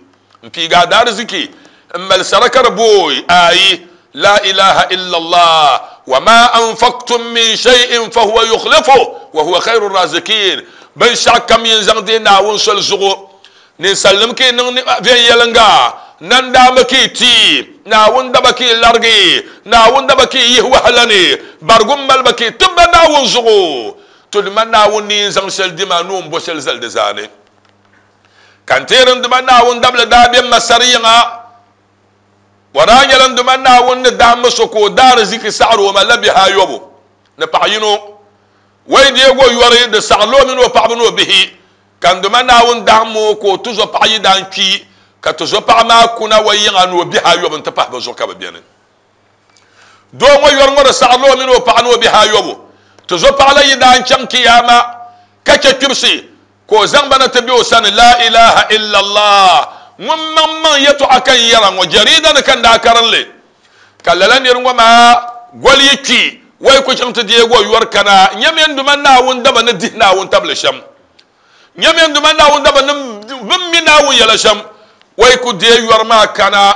N piigi a daariziki n mali sara ka di booi. Ayi, la ilaha illallah. Wa ma anfaqtum min shay'in fa huwa yukhlifuh wa huwa khairu razikin. Binshɛɣu kam yin zaŋ deei Naawuni soli zuɣu, Ninsalnim ka yi niŋ viɛnyɛliŋga, nandaamba ka yi ti, Naawuni daba ka yi larigi, Naawuni daba ka yi yihi wahala ni, barigu m-mali ba ka yi tib ba Naawuni zuɣu. To dima Naawuni ni yɛn zaŋ shɛli di ma ni o ni bo shɛli zali di zaa ni. Ka n teeri n dima Naawuni dabili daa be Masar yiŋa. O daa nyɛla n dima Naawuni ni dahimmi so ka o daariziki saɣiri o ma la bihi ayɔbu ni paɣ yino. Wai deeg o yɔri di saɣirila o mini o paɣiba ni o bihi. Ka n Duuma Naawuni dahim o ka o tizɔpaɣ yi daa n-kpi, ka tizɔpaɣ maa kuna o yiŋa ni o bihi ayɔbu nti pahi bɛ zuɣu ka bɛ beni. Doo ŋɔ yɔri ŋɔ di saɣirila o mini o paɣa ni o bihi ayɔbu. Tizɔpaɣ la yi daa n-chaŋ Kiyaama ka chɛ kpibisi, ka o zaŋ ba na ti be o sani. Laa ilaaha illallah! Ŋun maŋmaŋ yɛtɔɣa ka n yɛra ŋɔ, jɛriida ni ka n daa karim li. Ka lala nir ŋɔ maa goli yi kpi, o yi ku chaŋ ti deeg o yɔri kana, nyamiya n Duuma Naawuni daba ni dihi Naawuni tabili shɛm. Nyamiya n Duuma Naawuni daba ni bɛ mi Naawuni yɛla shɛm. O yi ku deei yɔri maa kana,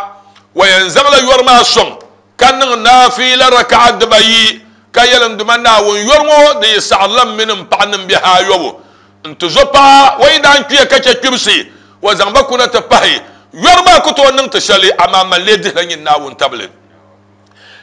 o yɛn zaŋla yɔri maa sɔŋ ka niŋ naafiila raka'a dibayi, ka yɛli n Duuma Naawuni, yɔri ŋɔ di yi saɣirila m mini m paɣa ni m bihi ayɔbu. N tizo paɣa o yi daa n-kpiya ka chɛ kpibisi, o zaŋ ba kuna ti pahi. Yɔri maa ku tooi niŋ ti shɛli, amaa man lee dihila nyin Naawuni tabili.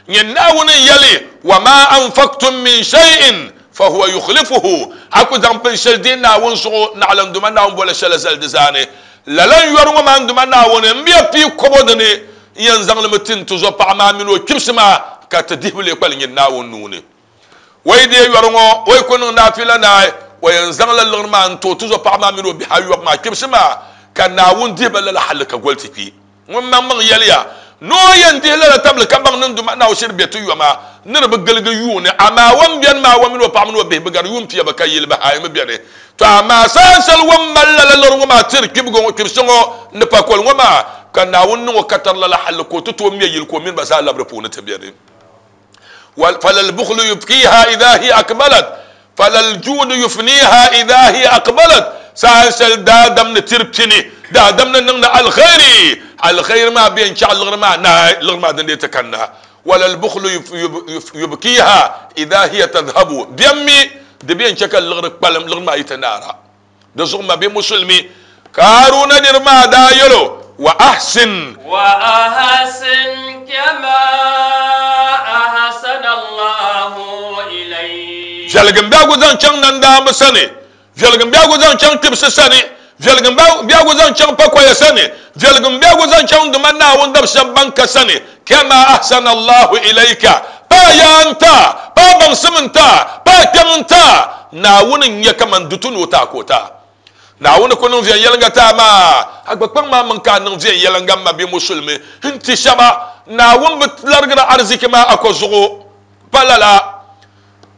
Nyin Naawuni n-yɛli, Wa maa anfaktum min shay'in fahuwa yukhlifuhu, a ku zaŋ binshɛli deei Naawuni zuɣu naɣila n Duuma Naawuni bɔla shɛli zali di zaani. Lala n-yɔri ŋɔ maa n Duuma Naawuni, m bia pii kɔbo dini n-yɛn zaŋ li mi ti n tizo paɣa maa mini o kpibisi maa ka ti dihibu lee kpalim nyin Naawuni nuu ni. O yi deei yɔri ŋɔ, o yi ku niŋ naafila naai, o yɛn zaŋla liɣiri maa n-ti o tizɔpaɣa maa mini o bihi ayɔbu maa kpibisi maa, ka Naawuni dihi ba lala halli ka goli ti kpi. Ŋun maŋmaŋ yɛliya ni o yɛn dihi lala tabili ka baŋ ni n Duuma Naawuni shiri be ti yoma ni di bi giligi yuuni, amaa o ni beni maa o mini o paɣa mini o bihi bi gari yuun pia bi ka yili bahi ayi mi beni. Tɔ amaa saha shɛli o ni mali lala liɣiri ŋɔ maa tiri kpibiga ŋɔ kpibisi ŋɔ ni pakoli ŋɔ maa, ka Naawuni niŋ o katari lala halli ka o ti tooi me yili ka o mini ba zaa labi di puuni ti beni. فلا البخل يبكيها إذا هي أقبلت فلا الجود يفنيها إذا هي أقبلت saha shɛli daadam ni tiri pini daadam ni niŋdi alkhairi alkhairi maa bɛ n chaɣ liɣiri maa naai liɣiri maa din dee ti kanna wala albukhlu yubkiha idha hiya tadhhabu biɛm mi di bɛ n chɛ ka liɣiri kpalim liɣiri maa yi ti naara Di zuɣu mabia Musulimi Kaaruna niriba maa daa yɛl o, Wa ahsin.
Wa ahsin kama ahsana Allahu ilayk.
Viɛlgim biɛhigu zaŋ chaŋ nandaamba sani, viɛlgim biɛhigu zaŋ chaŋ kpibisi sani, viɛlgim biɛhigu zaŋ chaŋ pakoya sani, viɛlgim biɛhigu zaŋ chaŋ Duuma Naawuni dab shɛba ban ka sani, kama ahsana Allahu ilayka, pa yaa n-ti a, pa baŋsim n-ti a, pa kpiɔŋ n-ti a. Naawuni n-nyɛ kaman dutu ni o ti a ka o ti a. Naawuni ku niŋ viɛnyɛliŋga ti a maa, a gba kpaŋ maa mini ka a niŋ viɛnyɛliŋga m mabia Musulimi n-ti shɛba. Naawuni bi larigira ariziki maa a ko zuɣu. Pa lala.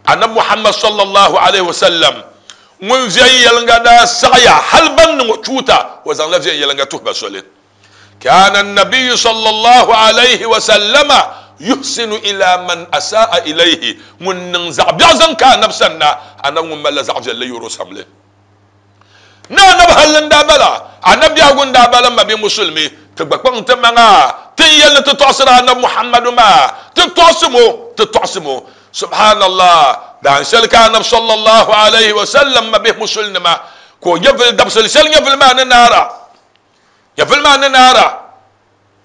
Anabi Muhammad sallallahu alaihi wasallam ŋun viɛnyɛliŋga daa saɣiya hali ban niŋ o chuuta, o zaŋla viɛnyɛliŋga tuhi ba soli. Kana an-nabiyyu sallallahu alaihi wasallama yuhsinu ila man asa'a ilayhi, ŋun niŋ zaɣ biɛɣu zaŋ ka Anabi sanna, Anabi ŋun malila zaɣ viɛlli yuri o samli. Ni Anabi halli n-daa bala, Anabi biɛhigu n-daa bala, m mabia Musulimi, ti gba kpaŋ ti maŋa ti ni yɛli ni ti tɔɣisiri Anabi Muhammadu maa, ti tɔɣisim o, ti tɔɣisim o. Subhanallah! Daan shɛli ka Anabi sallallahu alaihi wasallam mabihi Musulinima ka o nyɛvili dabisili shɛli nyɛvili maa ni naara. Nyɛvili maa ni naara,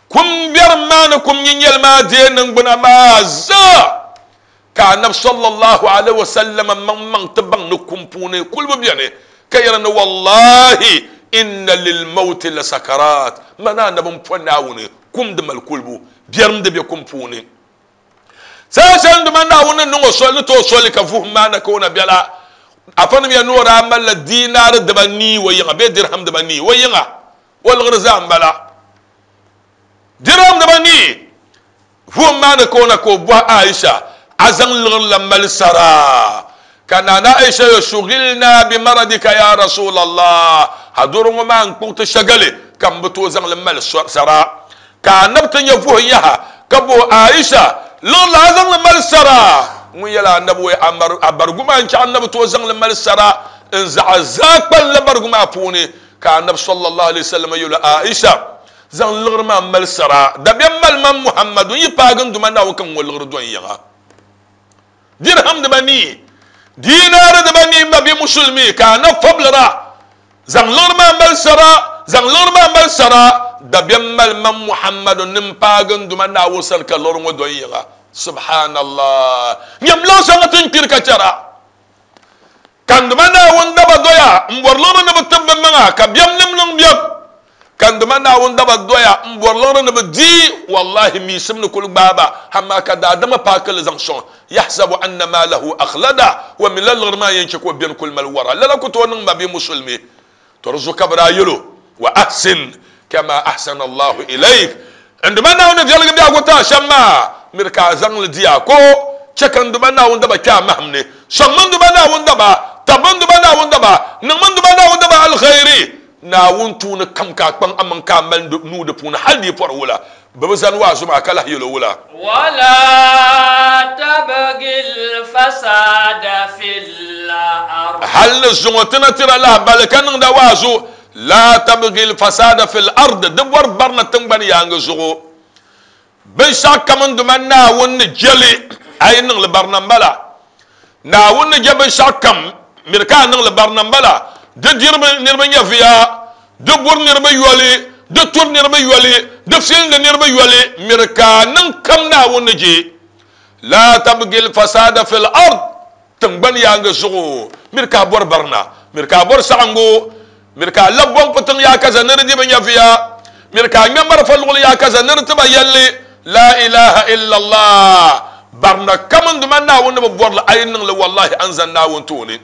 kum biɛrim maa ni kum nyinyɛli maa deei niŋgbuna maa zaa, ka Anabi sallallahu alaihi wasallam maŋmaŋ ti baŋ ni kum puuni kulibu beni, ka yɛli ni wallahi inna lil mawti la sakarat, mani Anabi m-po Naawuni kum di mali kulibu, biɛrim di be kum puuni. Saha shɛli dama Naawuni ni niŋ o soli ni ti o soli ka vuhim maa na ka o na bela, afanim ya ni o daa malila diinaari dibanii o yiŋa bee dirham dibanii o yiŋa, o liɣiri zaa m-bala. Dirham dibanii! Vuhim maa ni ka o na ka o bɔhi Aisha, A zaŋ liɣiri la mali sara? Ka Nana Aisha yɛli, Shughilna bi maradika ya Rasulallah, a doro ŋɔ maa n-kpuɣi ti shɛgali ka m bi tooi zaŋ li mali sara. Ka Anabi ti nya vuhim yaha. Ka bo Aisha liɣiri la a zaŋli mali sara. Ŋun yɛli anabi wai a barigu maa n-chɛ anabi tooi zaŋli mali sara n zaɣa zaa kpalinla barigu maa puuni. Ka anabi sallallahu alaihi wasallam yɛli Aisha zaŋ liɣiri maa mali sara dabiɛm mali man Muhammadu n yi paagi n Duuma Naawuni ka n ŋɔ liɣiri dɔn yiŋa. Dirham dibanii, diinaari dibanii m mabia musulimi ka anabi fabilira Zaŋ liɣiri maa mali sara, zaŋ liɣiri maa mali sara, dabiɛm mali man Muhammadu ni m-paagi n Duuma Naawuni sani ka liɣiri ŋɔ do n yiŋa. Subhanallah! Nyam liɣi shɛŋa ti ni kpiri ka chɛra, ka n Duuma Naawuni daba doya m-bɔri liɣiri ni bɛ tib bɛ maŋa, ka biɛm nim niŋ biɛm, ka n Duuma Naawuni daba doya m-bɔri liɣiri ni bɛ di, wallahi miisim ni kuli gbaai ba, amaa ka daadama paaki li zaŋ sɔŋ. Yahsabu anna maalahu akhlada, o mi la liɣiri maa yɛn chɛ ka o beni kuli mali wara. Lala ku tooi niŋ mabia musulimi. To di zuɣu ka bɛ daa yɛl o, Wa ahsin kama ahsana Allahu ilayk, N Duuma Naawuni ni viɛligi biɛhigu ti a shɛm maa, miri ka a zaŋ li di a ko. Chɛ ka n Duuma Naawuni daba kpe a mahim ni. Sɔŋmi n Duuma Naawuni daba, tabimi n Duuma Naawuni daba, niŋmi n Duuma Naawuni daba alkhairi. Naawuni tuuni kam ka a kpaŋ amaŋ ka a mali nuu di puuni hal di yi pɔri wula. Bɛ bi zani waazu maa ka lahi yɛl o wula.
Wala tabgil fasada fil ard.
Hal ni zuŋɔ ti na tira lahibali ka niŋda waazu, La tabgil fasada fil ard, di bɔri barina tiŋgbani yaaŋa zuɣu. Binshɛɣu kam n Duuma Naawuni ni je li, a yi niŋ li barina m-bala. Naawuni ni je binshɛɣu kam, miri ka a niŋ li barina m-bala. Di diri niriba nyɛviya, di buri niriba yoli, di turi niriba yoli, di filindi niriba yoli, miri ka a niŋ kam Naawuni ni je. Laa tabgil fasaada fil ard, tiŋgbani yaaŋa zuɣu, miri ka a bɔri barina, miri ka a bɔri saɣiŋgu, miri ka a labi bɔŋ putiŋ yaakaza ni di di bɛ nyɛviya, miri ka a ŋmɛ marafa luɣili yaakaza ni di ti ba yɛlli, Laa ilaha illallah, barina kam n Duuma Naawuni ni bi bɔri li, a yi niŋ li wallahi a ni zani Naawuni tooni.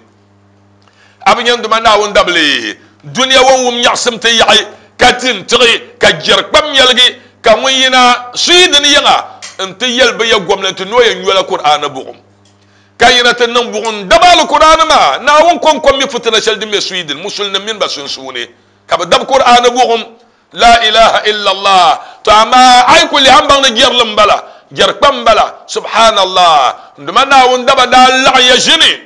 A bi nya n Duuma Naawuni dabili dunia ŋɔ wum nyaɣisim ti yaɣi, ka di n-tiɣi, ka jɛri kpam nyɛligi, ka ŋun yina Sweden yiŋa nti yɛli bɛ ya gomnanti ni o yɛn nyola Kur'aani buɣim. Ka yina ti niŋ buɣim daba Alkur'aani maa, Naawuni kɔŋko mi fitina shɛli din be Sweden Musulinim mini ba sunsuuni, ka bɛ dabi Kur'aani buɣim, La ilaha illallah. To amaa a yi kuli lihi a ni baŋ ni jɛrili m-bala, jɛri kpam m-bala. Subhanallah! N Duuma Naawuni daba daa laɣim ya ʒini.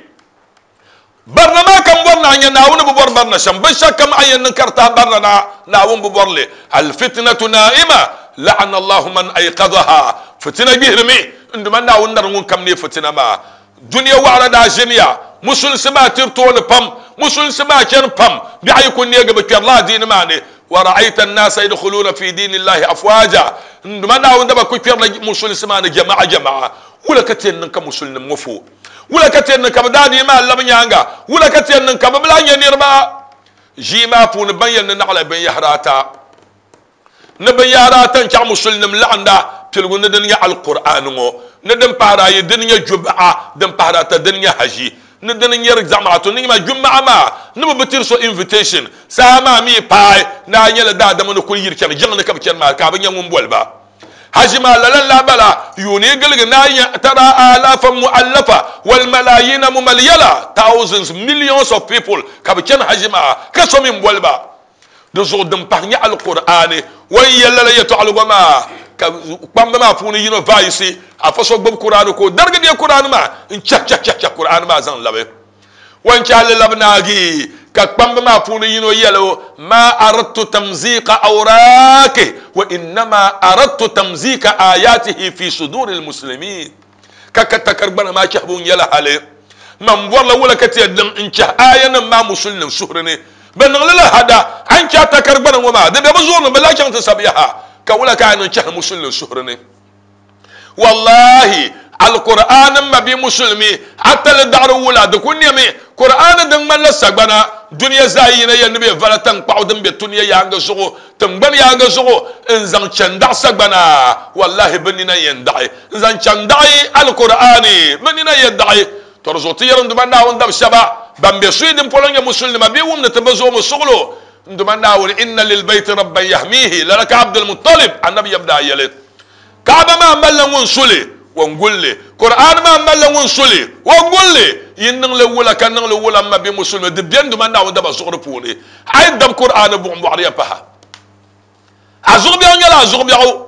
Barina maa ka m bɔri ni a nya Naawuni bi bɔri barina shɛm. Binshɛɣu kam a yɛn niŋ ka di tahi barina na, Naawuni bi bɔri li. Alfitnatu naima, la'ana Allahu man ayqadhaha. Fitina gbihirimi, n Duuma Naawuni nari ŋun kam neei fitina maa. Dunia waɣila daa ʒiniya, musulinsi maa tiri tooni pam, musulinsi maa chani pam, biɛɣu yi ku neegi bɛ kpɛrila adiini maa ni. Wa ra'ayta an-naasa yadkhuluuna fi diini Allahi afwaaja, n Duuma Naawuni daba ku kpɛrila musulinsi maa ni jama'a jama'a. Wula ka ti yɛn niŋ ka musulinim ŋɔ fo? Wula ka ti yɛn niŋ ka bɛ daa dii maa labi nyaaŋa? Wula ka ti yɛn niŋ ka bɛ bi lahi nya niriba? Ʒii maa puuni ban yɛli ni naɣila binyɛhiri ata, ni binyɛhiri ata n-chaɣ musulinim laɣinda piligu ni dini nyɛ Alkur'aani ŋɔ, ni din pahiri ayi dini nyɛ Juma'a, din pahiri ata dini nyɛ Haji, ni dini nyɛri zamaatu ni nyɛma Juma'a maa ni bɛ bi tiri so invitation, saha maa mi paai ni a nyɛla daadama ni kuli yiri chani jiŋ ni ka bɛ chani maa ka a bi nya ŋun boli ba. Haji maa lala n-lahi bala, yuuni yi giligi ni a nya tara alaafan mu'allafa wal malayiina mumalyala, thousands, millions of people, ka bɛ chani haji maa ka so mi m-boli ba. Di zuɣu din pahi nyɛ Alkur'aani o ni yɛli lala yɛtɔɣiligu maa ka kpamba maa puuni yino vaayisi afa so gbubi Kur'aani ka o darigi bɛ Kur'aani maa n-chahi chahi chahi chahi Kur'aani maa zaŋ labi. O ni chahi li labi naagi ka kpamba maa puuni yino yɛli o, Maa aradtu tamziiqa awraaki wa innama aradtu tamziika aayaatihi fi suduuri lmuslimiin. Ka ka takari gbana maa chahibu n-nyɛla hali man bɔrila wula ka ti yɛn niŋ n-chahi aayanim maa musulinim suhuri ni. Bɛ niŋ li la hada, a ni chahi takari gbana ŋɔ maa, di be bɛ zuɣuri ni, bɛ lahi chaŋ ti sabi yaha, ka wula ka a niŋ chahi musulinim suhuri ni? Wallahi, Alkur'aani m mabia musulimi, a tali daɣiri wula di ku nɛmi. Kur'aani din ŋmanila sagbana, dunia zaa yi yina yɛli ni bɛ vala taŋkpaɣu din be tunia yaaŋa zuɣu, tiŋgbani yaaŋa zuɣu, n-zaŋ chani daɣi sagbana. Wallahi, bɛ nina yɛn daɣi. N-zaŋ chani daɣi Alkur'aani, bɛ nina yɛn daɣi. Tɔ di zuɣu ti yɛri n Duuma Naawuni dab shɛba ban be suyi din polo nyɛ musulinima bee wumdi ti bi zoomi suɣilo, N Duuma Naawuni, Inna lilbayti rabban yahmiihi, lala ka Abdulmuttalib, Annabi yab daa yɛli. Kaaba maa malila ŋun su li, o ni guli li. Kur'aani maa malila ŋun su li, o guli li. Yi niŋ li wula ka niŋ li wula m ma bɛ Musulimi, di beni Duuma Naawuni daba zuɣuri puuni. A yi dabi Kur'aani buɣim bɔɣiri ya pahi. A zuɣubiɛɣu nyɛla a zuɣubiɛɣu.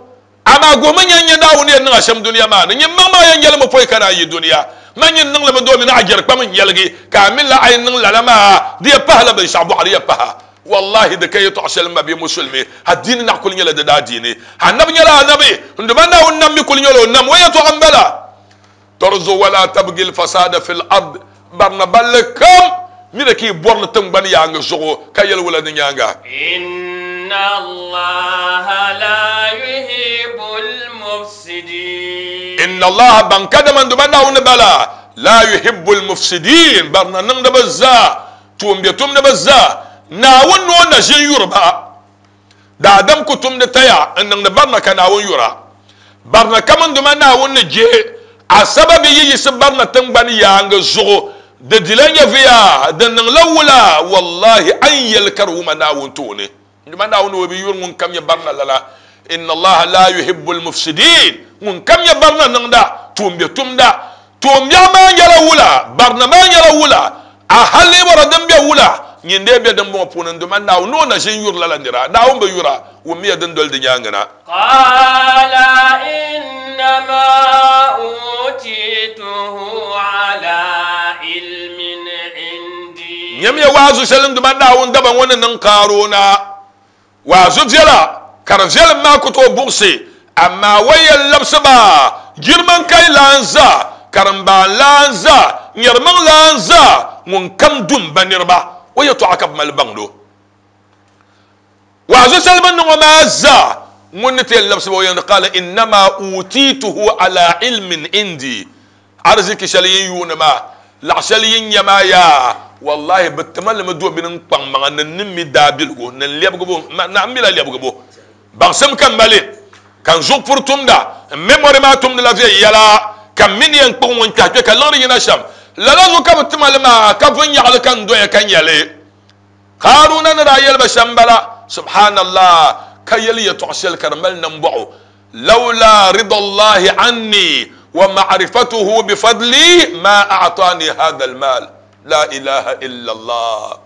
Amaa guhimi nya n-nya Naawuni yɛn niŋ a shɛm dunia maa ni. Nyin maŋmaŋ yɛn yɛlimi pɔi ka naan yi dunia. Man nyin niŋ li mi domi ni a jɛri kpam n-yɛligi, ka a mi la a yi niŋ lala maa, di yɛn pahila binshɛɣu bɔɣu di yɛn pahi a. Wallahi di ka yɛtɔɣ shɛli m mabia Musulimi, adiini naɣ kuli nyɛla di daadiini. Anabi nyɛla anabi, n Duuma Naawuni nam mi kuli nyɛla o nam, o yɛtɔɣa m-bala. Tɔrizo wala tabgil fasada fil ard, barina balli kam mini ka yi bɔri li tiŋgbani yaaŋa zuɣu ka yɛli wula di nyaaŋa.
Inna Allaha la yuhibbul mufsidin.
Inna Allaha baŋ kadama n Duuma Naawuni bala, la yuhibbul mufsidin, barina niŋdiba zaa, tuumbiɛtumdiba zaa, Naawuni ni o na ʒin yuri ba. Daadam ku tumdi taya n-niŋdi barina ka Naawuni yura. Barina kam n Duuma Naawuni ni je a sababi yi yiɣisi barina tiŋgbani yaaŋa zuɣu, di dila nyɛviya, di niŋla wula, wallahi a ni yɛli ka di wuma Naawuni tooni. N Duuma Naawuni o bi yuri ŋun kam nyɛ barina lala. Inna Allaha laa yuhibbul mufsidin, ŋun kam nyɛ barina niŋda, tuumbiɛtumda. Tuumbiɛɣu maa nyɛla wula? Barina maa nyɛla wula? A hali bɔra din be wula? Nyin dee be dimbɔŋɔ puuni n-duuma Naawuni ni o na ʒi n-yuri lala nira. Naawuni bi yura, wummiya din doli di nyaaŋa na.
Qaala innama uutituhu ala ilmin indi.
Nyamiya waazu shɛli n-duuma Naawuni daba ŋɔ ni niŋ Kaaruuna. Waazu viɛla, ka di viɛlim maa ku tooi buɣisi, amaa o yɛn labisi ba girmaŋkai laan zaa, karimbaan laan zaa, nyɛrimiŋ laan zaa, ŋunkam du m-ba niriba, o yɛtɔɣa ka bɛ mali baŋd o. Waazu shɛli bɛ ni niŋ o maa zaa, ŋun ni ti yɛn labisi ba, o yɛn di qaala innama uutituhu ala ilmin indi, Ariziki shɛli yin yuuni maa, laɣ shɛli yin nya maa yaa, wallahi bɛ tima li mi domini n kpaŋ maŋa ni n ni mi daabiligu ni n lɛbigibu, na m mila lɛbigibu. Baŋsim ka m mali, ka n zuɣu puri tumda, n memory maa tumdila viɛnyɛla, ka m mi ni yɛn kpuɣi ŋun kpɛhi kpe ka liɣiri yina shɛm. Lala zuɣu ka bɛ tima li maa, ka vunyaɣili ka n doya ka nya li. Haruna ni daa yɛli ba shɛm m-bala, Subhanallah, ka yɛli yɛtɔɣ shɛli ka di mali nambɔɣu, Lawla ridallahi anni wa ma'rifatuhu bifadli ma a'tani hadha al-mal. La ilaha illallah.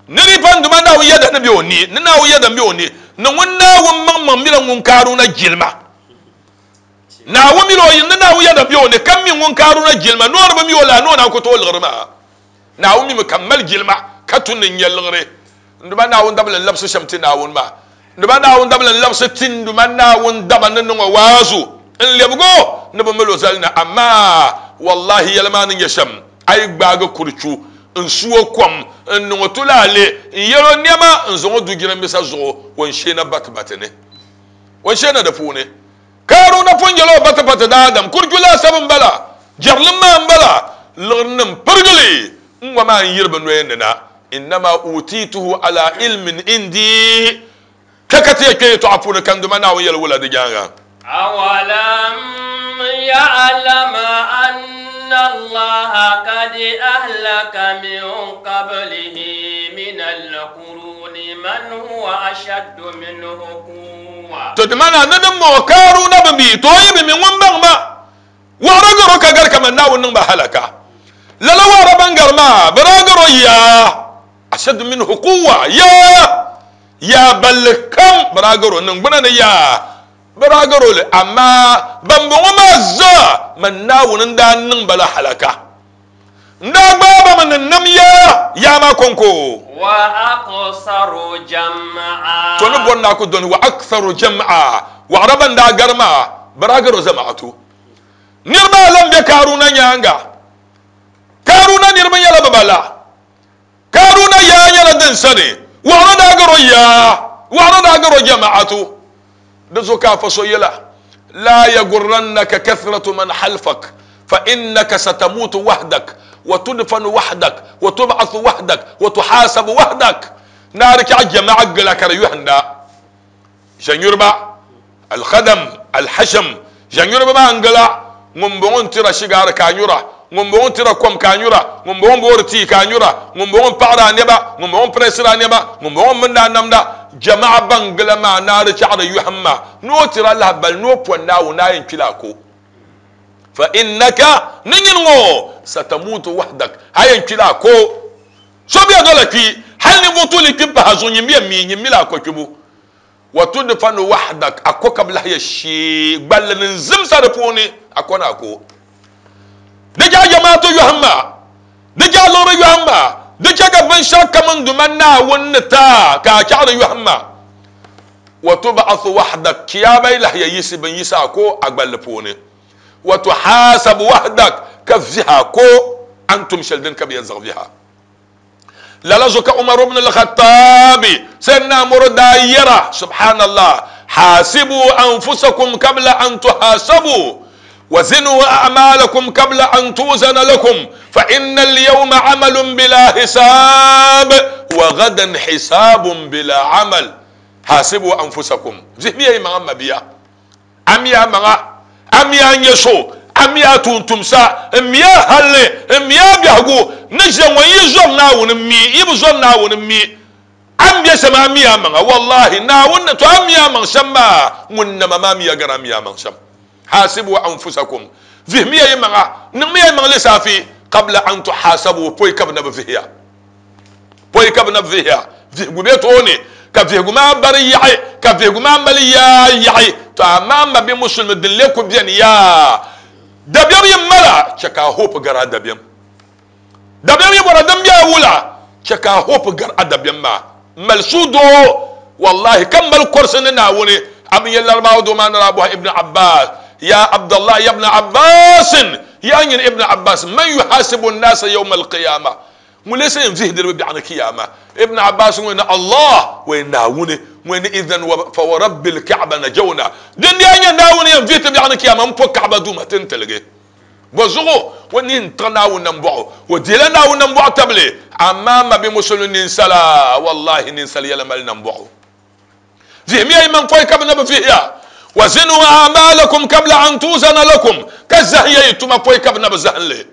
Ni di pa n Duuma Naawuni yɛda ni be o ni, ni Naawuni yɛda m-be o ni, ni ŋun Naawuni maŋmaŋ mila ŋun Karuna jilima. Naawuni mila o, ni Naawuni yɛda be o ni, ka mi ŋun Karuna jilima, ni o di bi mi o laa, ni o naan ku tooi liɣiri maa. Naawuni mimi ka m mali jilima ka tu ni n nya liɣiri. N Duuma Naawuni dabili n-labisi shɛm ti Naawuni maa. N Duuma Naawuni dabili n-labisi ti n Duuma Naawuni daba ni niŋ o waazu n-lebigi o ni bi mali o zali na. Amaa wallahi yɛli maa ni nyɛ shɛm, a yi gbaagi kurichu n-su o kom n-niŋ o tulaale n-yɛl o nɛma n-zaŋ o du jiranbiisa zuɣu, o ni sheena batibati ni. O ni sheena di puuni. Karuna pun yɛl o batibati daadam kurichu laasabu m-bala, jɛrilim maa m-bala, liɣirinim pirigili n-ŋɔ maa n-yiri bɛ noya ni na. Innama uutituhu ala ilmin indi, Kpe ka ti yɛn kpe yɛtɔɣa puuni ka n Duuma Naawuni yɛli wula di nyaaŋa?
Awalam ya'lam anna Allaha kad ahlaka min qablihi min al-quruni man huwa ashaddu minhu quwwa.
To di maana ni din bɔŋɔ Karuna bi mi, to o yi bi mi ŋun baŋ ma waɣira garo ka gari kaman Naawuni niŋ ba halaka. Lala waɣira ban gari maa bɛ daa garo yaa ashaddu minhu quwwa, yaa yaa balli kam bɛ daa garo niŋgbuna ni yaa bɛ daa garo li, amaa bambɔŋɔ maa zaa man Naawuni n-daa niŋ ba la halaka. N daa gbaai ba mi ni nam ya yaa maa kɔŋko.
Wa aktharu jam'a.
To ni bɔri ni a ku dɔni wa aktharu jam'a, waɣira ban daa gari maa, bɛ daa gari o zamaatu. Niriba a lan be Karuna nyaaŋa. Karuna niriba nyɛla bɛ ba la. Karuna yaa nyɛla din sani, waɣira daa gari o yaa, waɣira daa gari o jamaatu. Di zuɣu ka afa so yɛla, Laa yagurrannaka kathratu man halfak, fa innaka satamutu wahdak, wa tudfanu wahdak, wa tub'athu wahdak, wa tuhasabu wahdak. Naari chɛɣu jama'a gila ka di yɔhinda. Ʒɛnyuriba, Al-Khadam, Al-Hasham, ʒɛnyuriba maa n-gila, ŋumbɔŋɔ n-tira shigaari ka a nyura, ŋumbɔŋɔ n-tira kom ka a nyura, ŋumbɔŋɔ m-boori tii ka a nyura, ŋumbɔŋɔ m-paɣiri a nɛma, ŋumbɔŋɔ m-piresiri a nɛma, ŋumbɔŋɔ m-mindi a namda. Jama'a ban gila maa naari chaɣiri yɔhim ma ni o tira lahibali ni o pɔni Naawuni ni a yɛn kpila a ko. Fa innaka, ni nyini ŋɔ, satamuutu wahdak, a yɛn kpila a ko. So bɛ dola kpi, hali ninvuɣ tuuli kpi m-pahi a zuɣu, nyin mi yɛn mi, nyin mi la a ko kpibu. Wa tudfanu wahdak, a ko ka bi lahi ya shee gballi ni n-zimsa di puuni, a ko ni a ko. Di chɛ a jamaatu yɔhim ma, di chɛ a liɣiri yɔhim ma, di chɛ ka binshɛɣu kam n Duuma Naawuni ni ti a ka a chaɣiri yɔhim ma. Wa tub'athu wahdak, Chiyaama yi lahi ya yiɣisi bɛ ni yiɣisi a ko a gballi puuni. Wa tuhasabu wahdak, ka vihi a ko a ni tum shɛli dini ka bɛ yɛn zaŋ vihi a. Lala zuɣu ka Umar ibn al-Khattabi, Sayyidina Umar daa yɛra, Subhanallah, hasibu anfusakum kabla an tuhasabu, wa zinu a'malakum kabla an tuzana lakum, fa inna al-yawma amalun bila hisab, wa gadan hisabun bila amal. Hasibu anfusakum. Vihimiya yi maŋa mabia. A mi a maŋa, a mi a nyɛ so, a mi a tuuntumsa, m mi a halli, m mi a biɛhigu ni ʒe ŋɔ. Yi zɔri Naawuni m-mi, yi bi zɔri Naawuni m-mi. A ni be shɛm a mi a maŋa. Wallahi, Naawuni ni to a mi a maŋ shɛm maa, ŋun nama maa miya gari a mi a maŋ shɛm. Hasibu anfusakum, vihimiya yi maŋa, niŋmiya yi maŋ lisaafi, qabla an tuhasabu, pɔi ka bɛ na bi vihi ya. Pɔi ka bɛ na vihiya, vihigu be tooni, ka vihigu maa bari yaɣi, ka vihigu maa mali yaa yaɣi. To amaa m ma bi musulimi din lee ku beni yaa. Dabiɛm yi mal a, chɛ ka a hope gari a dabiɛm. Dabiɛm yi bɔra din be a wula, chɛ ka a hope gari a dabiɛm maa. Mali suhudoo, wallahi, ka mali kɔrisi ni Naawuni. A bi nya Larabawa doo maa ni daa bɔhi Ibn Abbas, Ya Abdallah, ya Ibn Abbasin, yaa nyini Ibn Abbas, man yuhasibu n-naasa yawma al-qiyamah? Ŋun lee sa yɛn vihi niriba biɛɣu ni Kiyama? Ibn Abbas ŋun ni Allah, o yɛn Naawuni, ŋun ni idhan wa fa wa rabbil Ka'ba najawna. Din daa nyɛ Naawuni yɛn vihi ti biɛɣu ni Kiyama m-po Ka'ba duuma ti n-tiligi. Bɔ zuɣu o ni n-tiɣi Naawuni nambɔɣu, o dihila Naawuni nambɔɣu tabili, amaa ma bi musulimi ninsala, wallahi ninsal yɛla mali nambɔɣu. Vihimiya yi maŋ pɔi ka bɛ na bi vihi ya. Wa zinu a'malakum kabla an tuzana lakum, ka zahinya yi tuma pɔi ka bɛ na bi zahim li.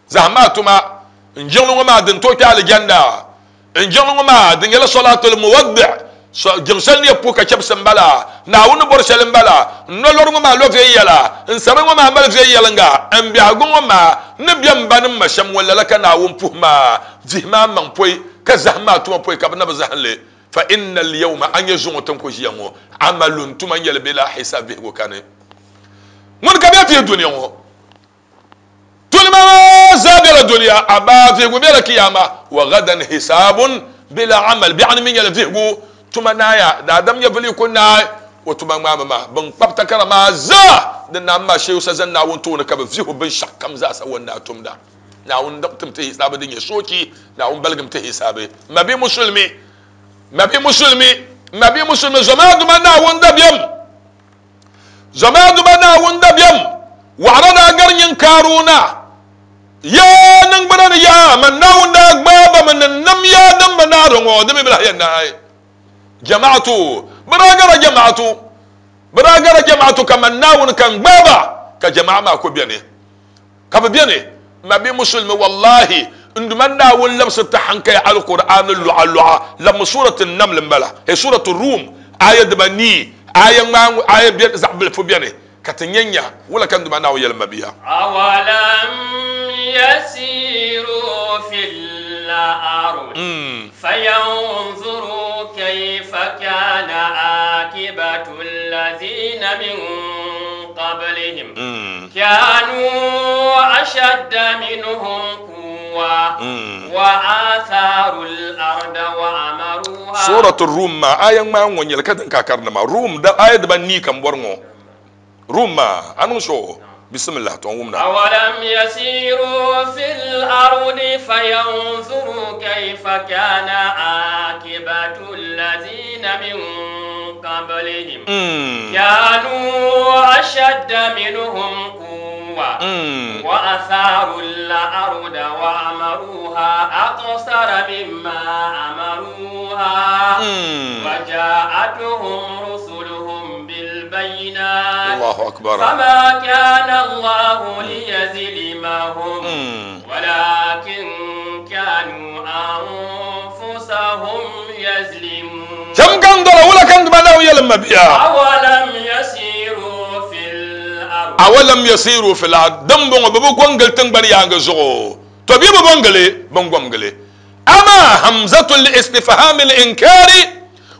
Zahim maa tuma n jiŋli ŋɔ maa din tooi kpe alijanna. N jiŋli ŋɔ maa di nyɛla sɔlaatul muwaddi, jiŋ shɛli ni yɛn puhi ka chɛbisi m-bala, Naawuni ni bɔri shɛli m-bala. N nolɔri ŋɔ maa lo viɛnyɛla, n sari ŋɔ maa mali viɛnyɛliŋga, n biɛhigu ŋɔ maa ni be m ba ni m ma shɛm ŋɔ lala ka Naawuni puhi maa. Vihi maa maŋ pɔi ka zahim maa tuma pɔi ka bɛ na bi zahim li. Fa inna al-yawma, a nya zuŋɔ ti ni ku ʒiya ŋɔ, amalun, tuma n-nyɛli bila hisaab, vihigu kani. Ŋuni ka bɛ vihi dunia ŋɔ? Tulima maa zaa bela dunia, amaa vihigu bela kiyama. Wa gadan hisaabun bila amal, biɛɣuni mi nyɛla vihigu tuma naaya. Daadam nyɛvili ku naai o tuma ŋmaami maa. Bɛn kpabi takara maa zaa di naam maa shee o sa zani Naawuni tooni ka bɛ vihi o binshɛɣu kam zaa sa o ni daa tumda. Naawuni tim ti hisaabi din nyɛ soochi, Naawuni baligim ti hisaabi. Mabi musulimi, mabi musulimi, mabi musulimi, zoma duma Naawuni dabiɛm. Zoma duba Naawuni dabiɛm waɣira daa gari nyin Kaaruna. Yaa niŋgbuna ni yaa, man Naawuni daa gbaai ba mi ni nam yaa din bi naari ŋɔ, di mi bi lahi yɛn naai. Jama'atu, bɛ daa gara jama'atu, bɛ daa gara jama'atu ka man Naawuni ka n-gbaai ba, ka jama'a maa ku beni. Ka bɛ beni, Mabi Musulimi, wallahi, n Duuma Naawuni labisiri ti hankaya Alkur'aani luɣa luɣa, labimi Suuratu Naml m-bala, he Suuratu Rum, aaya dibanii, aaya ŋmaa ŋɔ, aaya bɛ, zaɣ bilifu beni, ka ti nya nya wula ka n Duuma Naawuni yɛli m mabia.
Awalam yasiru fil ard fayanzuru kayfa kana akibatu allazina min qablihim. Kanu ashadda minhum quwwa wa atharu al-arda wa amaruha.
Suratul Rum maa aya ŋmaa ŋɔ nyɛli ka din ka karindi maa Rum da aya dibanii ka m bɔri ŋɔ Rum maa a niŋ so bisimillah to n wumda.
Awalam yasiru fil ardi fayanzuru kayfa kana akibatu allazina min qablihim kanu ashadda minhum quwwa wa atharu al-arda wa amaruha akthara mimma amaruha wa ja'atuhum rusuluhum bil bayinat
Allahu akbar
fama kana Allahu liyazlimahum walakin kanu anfusahum yazlimun.
Cham kan dɔla wula kan duma Naawuni yɛli mabia.
Awalam yasiru fil ard.
Awalam yasiru fil ard. Din bɔŋɔ bɛ bi gom gili tiŋgbani yaangi zuɣu. To bɛ bi bɔŋ gili, bɛn gom gili. Amaa hamzatul istifham al inkari.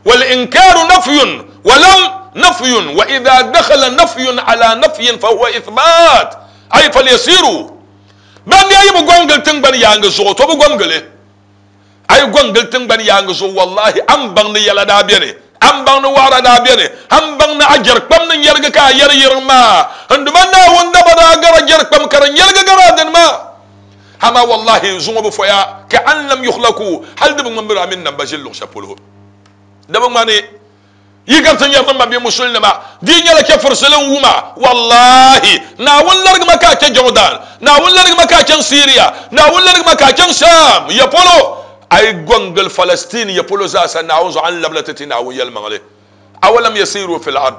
والإنكار نفي ولم نفي، وإذا دخل نفي على نفي فهو إثبات، أي فليسيروا. ban ya yi bu gongil tingbani yaangi zuɣu, to bu gomgili a yi gongil tingbani yaangi zuɣu, wallahi an baŋ ni yɛla daa beni, an baŋ ni waɣara daa beni, an baŋ ni a jɛri kpam ni yɛrigi ka a yɛri yiriŋ maa, n duma Naawuni daba daa gara jɛri kpam ka di yɛrigi gara dini maa. Ama wallahi zuŋɔ bi foya ka an lam yukhlaku, hali di bi ŋmani bɛ daa mini nam ba ʒili luɣu shɛli polo, di bi ŋmani yi gariti nyɛri ni mabia musulinima di nyɛla chɛfurisili n wuma. Wallahi Naawuni larigima ka a chɛ Jordan, Naawuni larigima ka a chaŋ Syria, Naawuni larigima ka a chaŋ Sham ya polo, a yi gɔŋgili Palestine ya polo zaasa, Naawuni zuɣu a ni labila ti ti Naawuni yɛlimaŋli. Awalam yasiru fil ard,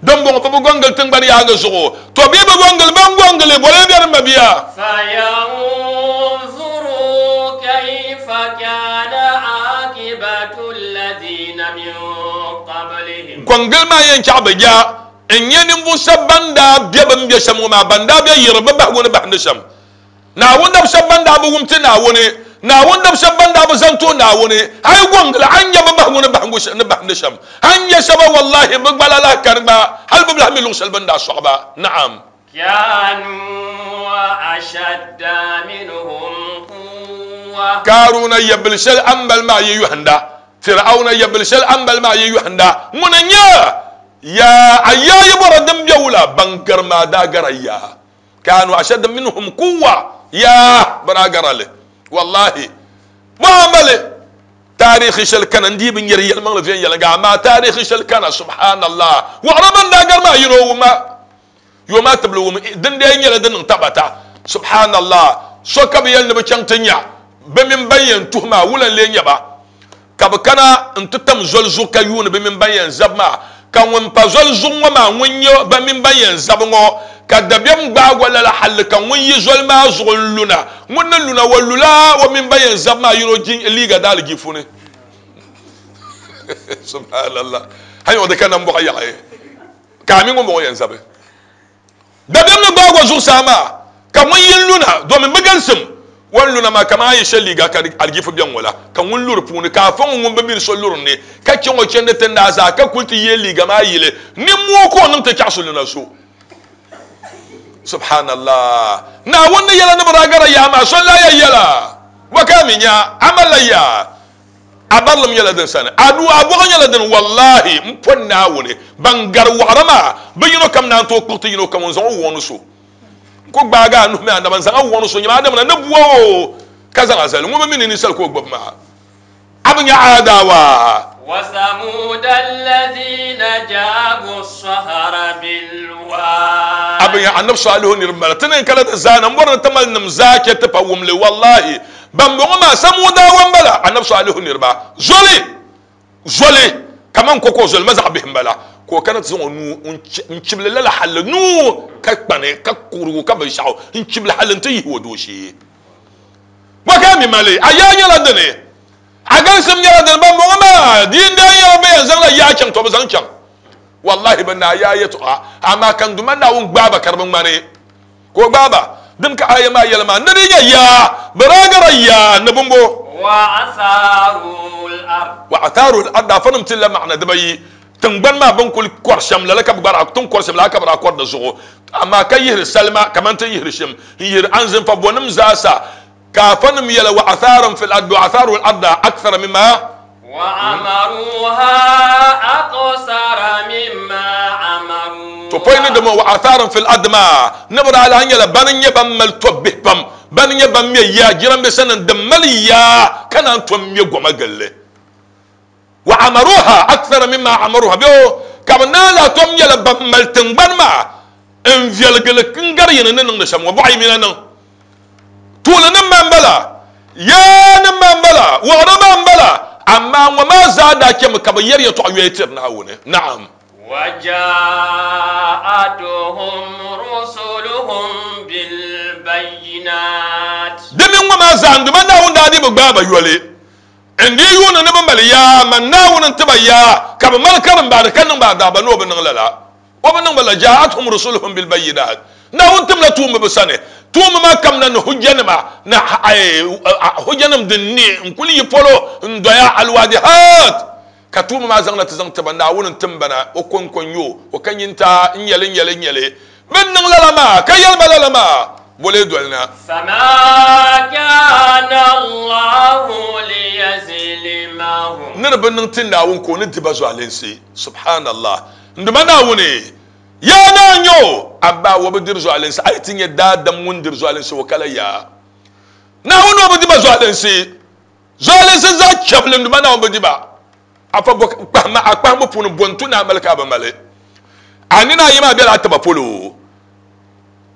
din bɔŋɔ bɛ bi gɔŋgili tiŋgbani yaaŋa zuɣu, to bɛ bi gɔŋgili ban gɔŋgili bɔla bɛ ni mabia.
فينظروا كيف كان عاقبة الذين من قبلهم.
Gɔŋgili maa yɛn chaɣ bɛ ja n nyɛ ninvuɣ shɛba ban daa be bɛ ni be shɛm ŋɔ maa, ban daa be yiri bɛ bahigu ni bahindi shɛm. Naawuni dab shɛba ban daa bi wum ti Naawuni, Naawuni dab shɛba ban daa bi zaŋ ti o Naawuni, a yi gɔŋgili a ni nya bɛ bahigu ni bahigu ni bahindi shɛm, a ni nya shɛba wallahi bɛ gbala lahi kani gba, hali bɛ bi lahi mi luɣ shɛli bɛ ni daa sɔɣi ba. Naam.
كانوا أشد منهم قوة.
Kaaruna yabili shɛli a ni mali maa yi yɔhinda, Fir'auna yabili shɛli a ni mali maa yi yɔhinda, ŋuni n-nyɛ ya a yaa yi bɔra din be wula ban gari maa daa gara ya. Kanu ashadda minhum quwwa, ya bɛ daa gara li. Wallahi muamali taarihi shɛli kana n dii bi nyɛri yɛlimaŋli viɛnyɛliŋga, amaa taarihi shɛli kana subhanallah wɔɣira ban daa gari maa yino wumma yo maa tibili wum din dee nyɛla din niŋ tabata. Subhanallah so ka bi yɛli ni bi chaŋ ti nya bɛ mini ban yɛn tuhi maa wula n-lee nyɛ ba, ka bɛ kana n-ti tam zoli zuɣu ka yuuni bɛ mini ban yɛn zabi maa, ka ŋun pa zoli zuɣu ŋɔ maa ŋun nyɛ bɛ mini ban yɛn zabi ŋɔ, ka dabiɛm gbaagi o lala halli ka ŋun yi zoli maa zuɣu n-luna, ŋun ni luna o lula o mini ban yɛn zabi maa yino liiga daalijiifu ni. Subhanallah hali o di ka nambɔɣu yaɣi ka a mi ŋun bɔŋɔ yɛn zabi. Dabiɛm ni gbaagi o zuɣusaa maa ka ŋun yi luna domin bɛ galisim o ni luna maa kaman a yi shɛli liiga ka alijiifu bɛ ŋɔ la, ka ŋun lu di puuni ka a fa ŋun ŋun bi mini so luri ni ka chaŋ o chandi ti naai zaa ka kuli ti yeei liiga maa yili nimmoo ka o niŋ ti chaɣisi luna so. Subhanallah Naawuni ni yɛla ni bi daa gara yaa maa so n-lahi ya yɛla bɔ ka a mi nya a malila yaa a barilim nyɛla din sani, a nuu a bɔɣu nyɛla din, wallahi m poni Naawuni ban gari waɣira maa bɛ yino kam naan tooi kpuɣi ti yino kam n-zaŋ o wuɣi ni so n-ku gbaagi a nuhi mini a naba n-zaŋ a wuɣi ni so nyɛma Adamuna ni bua o ka zaŋ a zali ŋun bi mi ni ninsal ka o gbubi maa a bi nya aadaawa.
وثمود الذين جابوا الصخر بالواد.
A bi nya Annabi Salihu niriba m-bala ti ni n kala ti zaana m-bɔri ni ti mali nim zaa chɛ ti pa wumli, wallahi ban bɔŋɔ maa Samuudawa m-bala Annabi Salihu niriba zoli zoli kaman koko zoli ma zaɣ bihi m-bala ka o kana ti zaŋ o nuu n-chibili lala halli nuu ka kpani ka kurigu ka binshɛɣu n-chibili halli nti yihi o dooshee. Bɔ ka a mi mali? A yaa nyɛla dini? A galisim nyɛla dini? Ban bɔŋɔ maa di n daa nyɛla bɛ yɛn zaŋla yaa chaŋ, to bɛ zaŋ chaŋ. Wallahi bɛ naa yaa yɛtɔɣa, amaa ka n Duuma Naawuni gbaai ba ka di bi ŋmani ka o gbaai ba. Din ka aya maa yɛli maa, ni di nyɛ yaa, bɛ daa gara yaa ni bimbo. Wa atharu al-ard, afanim ti la maana dibayi, tiŋgbani maa bɛ ni kuli kɔri shɛm lala ka bɛ gba daa ti ni kɔri shɛm lala ka bɛ daa kɔri di zuɣu, amaa ka yihiri salima kamani ti ni yihiri shɛm n-yihiri anzinfa bɔnim zaasa. Ka afanim yɛla wa atharum fil ard wa atharu al arda akthara mimma
wa amaruha akthara mimma amaruha.
To pɔi ni dama wa atharum fil ard maa ni bi daa lahi nyɛla bani n-nyɛ ban mali tɔbbihi pam, bani n-nyɛ ban me ya jiranbiisa nim din mali yaa ka naan tom me goma gilli. Wa amaruha akthara mimma amaruha bɛ o ka bɛ naan lahi tom nyɛla ban mali tiŋgbani maa n-viɛligi li n-gari yini ni niŋdi shɛm ŋɔ. Bɔɣa yi mi na niŋ tuuli nim maa m-bala, yaa nim maa m-bala, wɔɣira maa m-bala, amaa ŋɔ maa zaa daa chɛmi ka bɛ yɛri yɛtɔɣa yoya tiri Naawuni. Naam.
وجاءتهم رسلهم بالبينات.
Di mini ŋɔ maa zaa n-duma Naawuni daa dii bi gbaai ba yoli. N dii yuuni ni bɛ mali yaa, man Naawuni n-ti ba yaa, ka bɛ mali karimbaani ka niŋ ba adaaba ni o bi niŋ lala. O bi niŋ ba la, ja'athum rusuluhum bilbayinat. Naawuni timla tuumba bɛ sani. Tuumba maa kamina ni hujjanima, ni hujjanim din ne n-kuli yi polo n-doya alwadihat, Ka tuuma maa zaŋna ti zaŋ ti ba, Naawuni n-tim ba na, o kɔŋko n-nyɛ o, o ka nyintaa n-nyɛ li, n-nyɛ li, n-nyɛ li. Bɛ ni niŋ lala maa, ka yɛli ba lala maa, bɔ lee doli na?
Fama kana Allahu liyazlimahum.
Ni di bi niŋ ti Naawuni ka o ni di ba zualinsi. Subhanallah! N Duuma Naawuni, yaa naa n-nyɛ o, amaa o bi diri zualinsi. A yi ti nya daadam ŋun diri zualinsi, o kala yaa. Naawuni o bi di ba zualinsi. Zualinsi zaa chɛbili n Duuma Naawuni bi di ba. Afa bɔ kpahima a kpahimbu puuni bɔ n-tu ni a mali ka a bi mali. A nina ayi maa bela a tiba polo.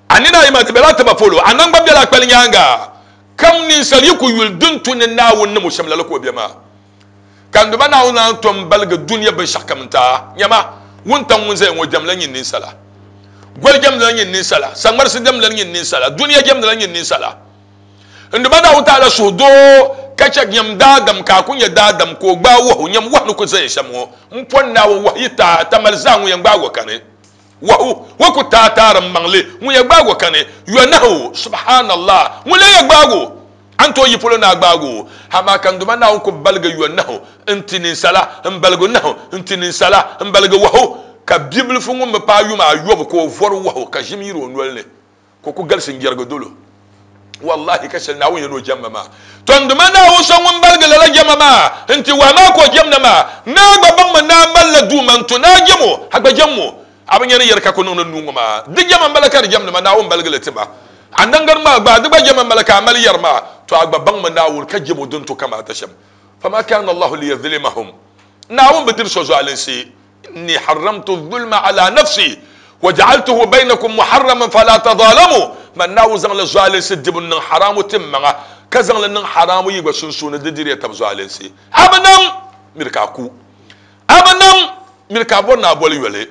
A nina ayi maa di bela a tiba polo. A naŋgban bela a kpali nyaaŋa. Kam ninsal yi ku yuli din tu ni Naawuni niŋ o shɛm lala ka o be maa. Ka n Duuma Naawuni naan tom baligi dunia binshɛɣukam n-ti a. Nyama, wuntaŋ ŋun zaya ŋɔ jɛmla nyin ninsala. Goli jɛmdila nyin ninsala. Saŋmarisi jɛmdila nyin ninsala. Dunia jɛmdila nyin ninsala. N Duuma Naawuni Taala suhudoo ka chɛ nyam daadam ka a ku nya daadam ka o gbaai wahu, nyam wahu ni ku zaya shɛm ŋɔ. M pɔni Naawuni wahu yi taai tamali zaa ŋun yɛn gbaag o kani. Wahu ŋɔ ku taai taari m maŋli ŋun yɛn gbaag o kani. Yɔnahu, Subhanallah, ŋun lee yɛn gbaag o? A ni tooi yi polo ni a gbaag o? Amaa ka n Duuma Naawuni ku baligi yɔnahu n-ti ninsala, m-baligi nahu n-ti ninsala, m-baligi wahu, ka bibilifu ŋun bi paai yuma ayɔbu ka o vɔri wahu ka ʒim yiri o noli ni. Ka o ku galisi n-jɛrigi dol o. Wallahi ka shɛli Naawuni yɛn o jɛmma maa. Tɔ n Duuma Naawuni so ŋun baligi lala jɛma maa nti wahi maa ka o jɛmda maa, naa gba baŋmi ni a malila Duuma n-to ni a jɛm o, a gba jɛmm o. A bi nya ni yɛri ka ku niŋdi nuu ŋɔ maa. Di jɛma m-bala ka di jɛmdi ma, Naawuni baligi li ti ma. A naŋgari maa gba, di gba jɛma m-bala ka a mali yɛri maa. Tɔ a gba baŋmi Naawuni ka jɛm o din to kamaata shɛm. Fama kana Allahu liyazlimahum. Naawuni bi diri so zualinsi. Inni harramtu zulma ala nafsi wa ja'altuhu baynakum muharraman fala tadhalamu. Man Naawuni zaŋla zualinsi dibu niŋ haramu ti maŋa, ka zaŋ li niŋ haramu yi gba sunsuuni di diriya tab zualinsi. A bi nam, miri ka a ku. A bi nam, miri ka a bɔri ni a boli yoli.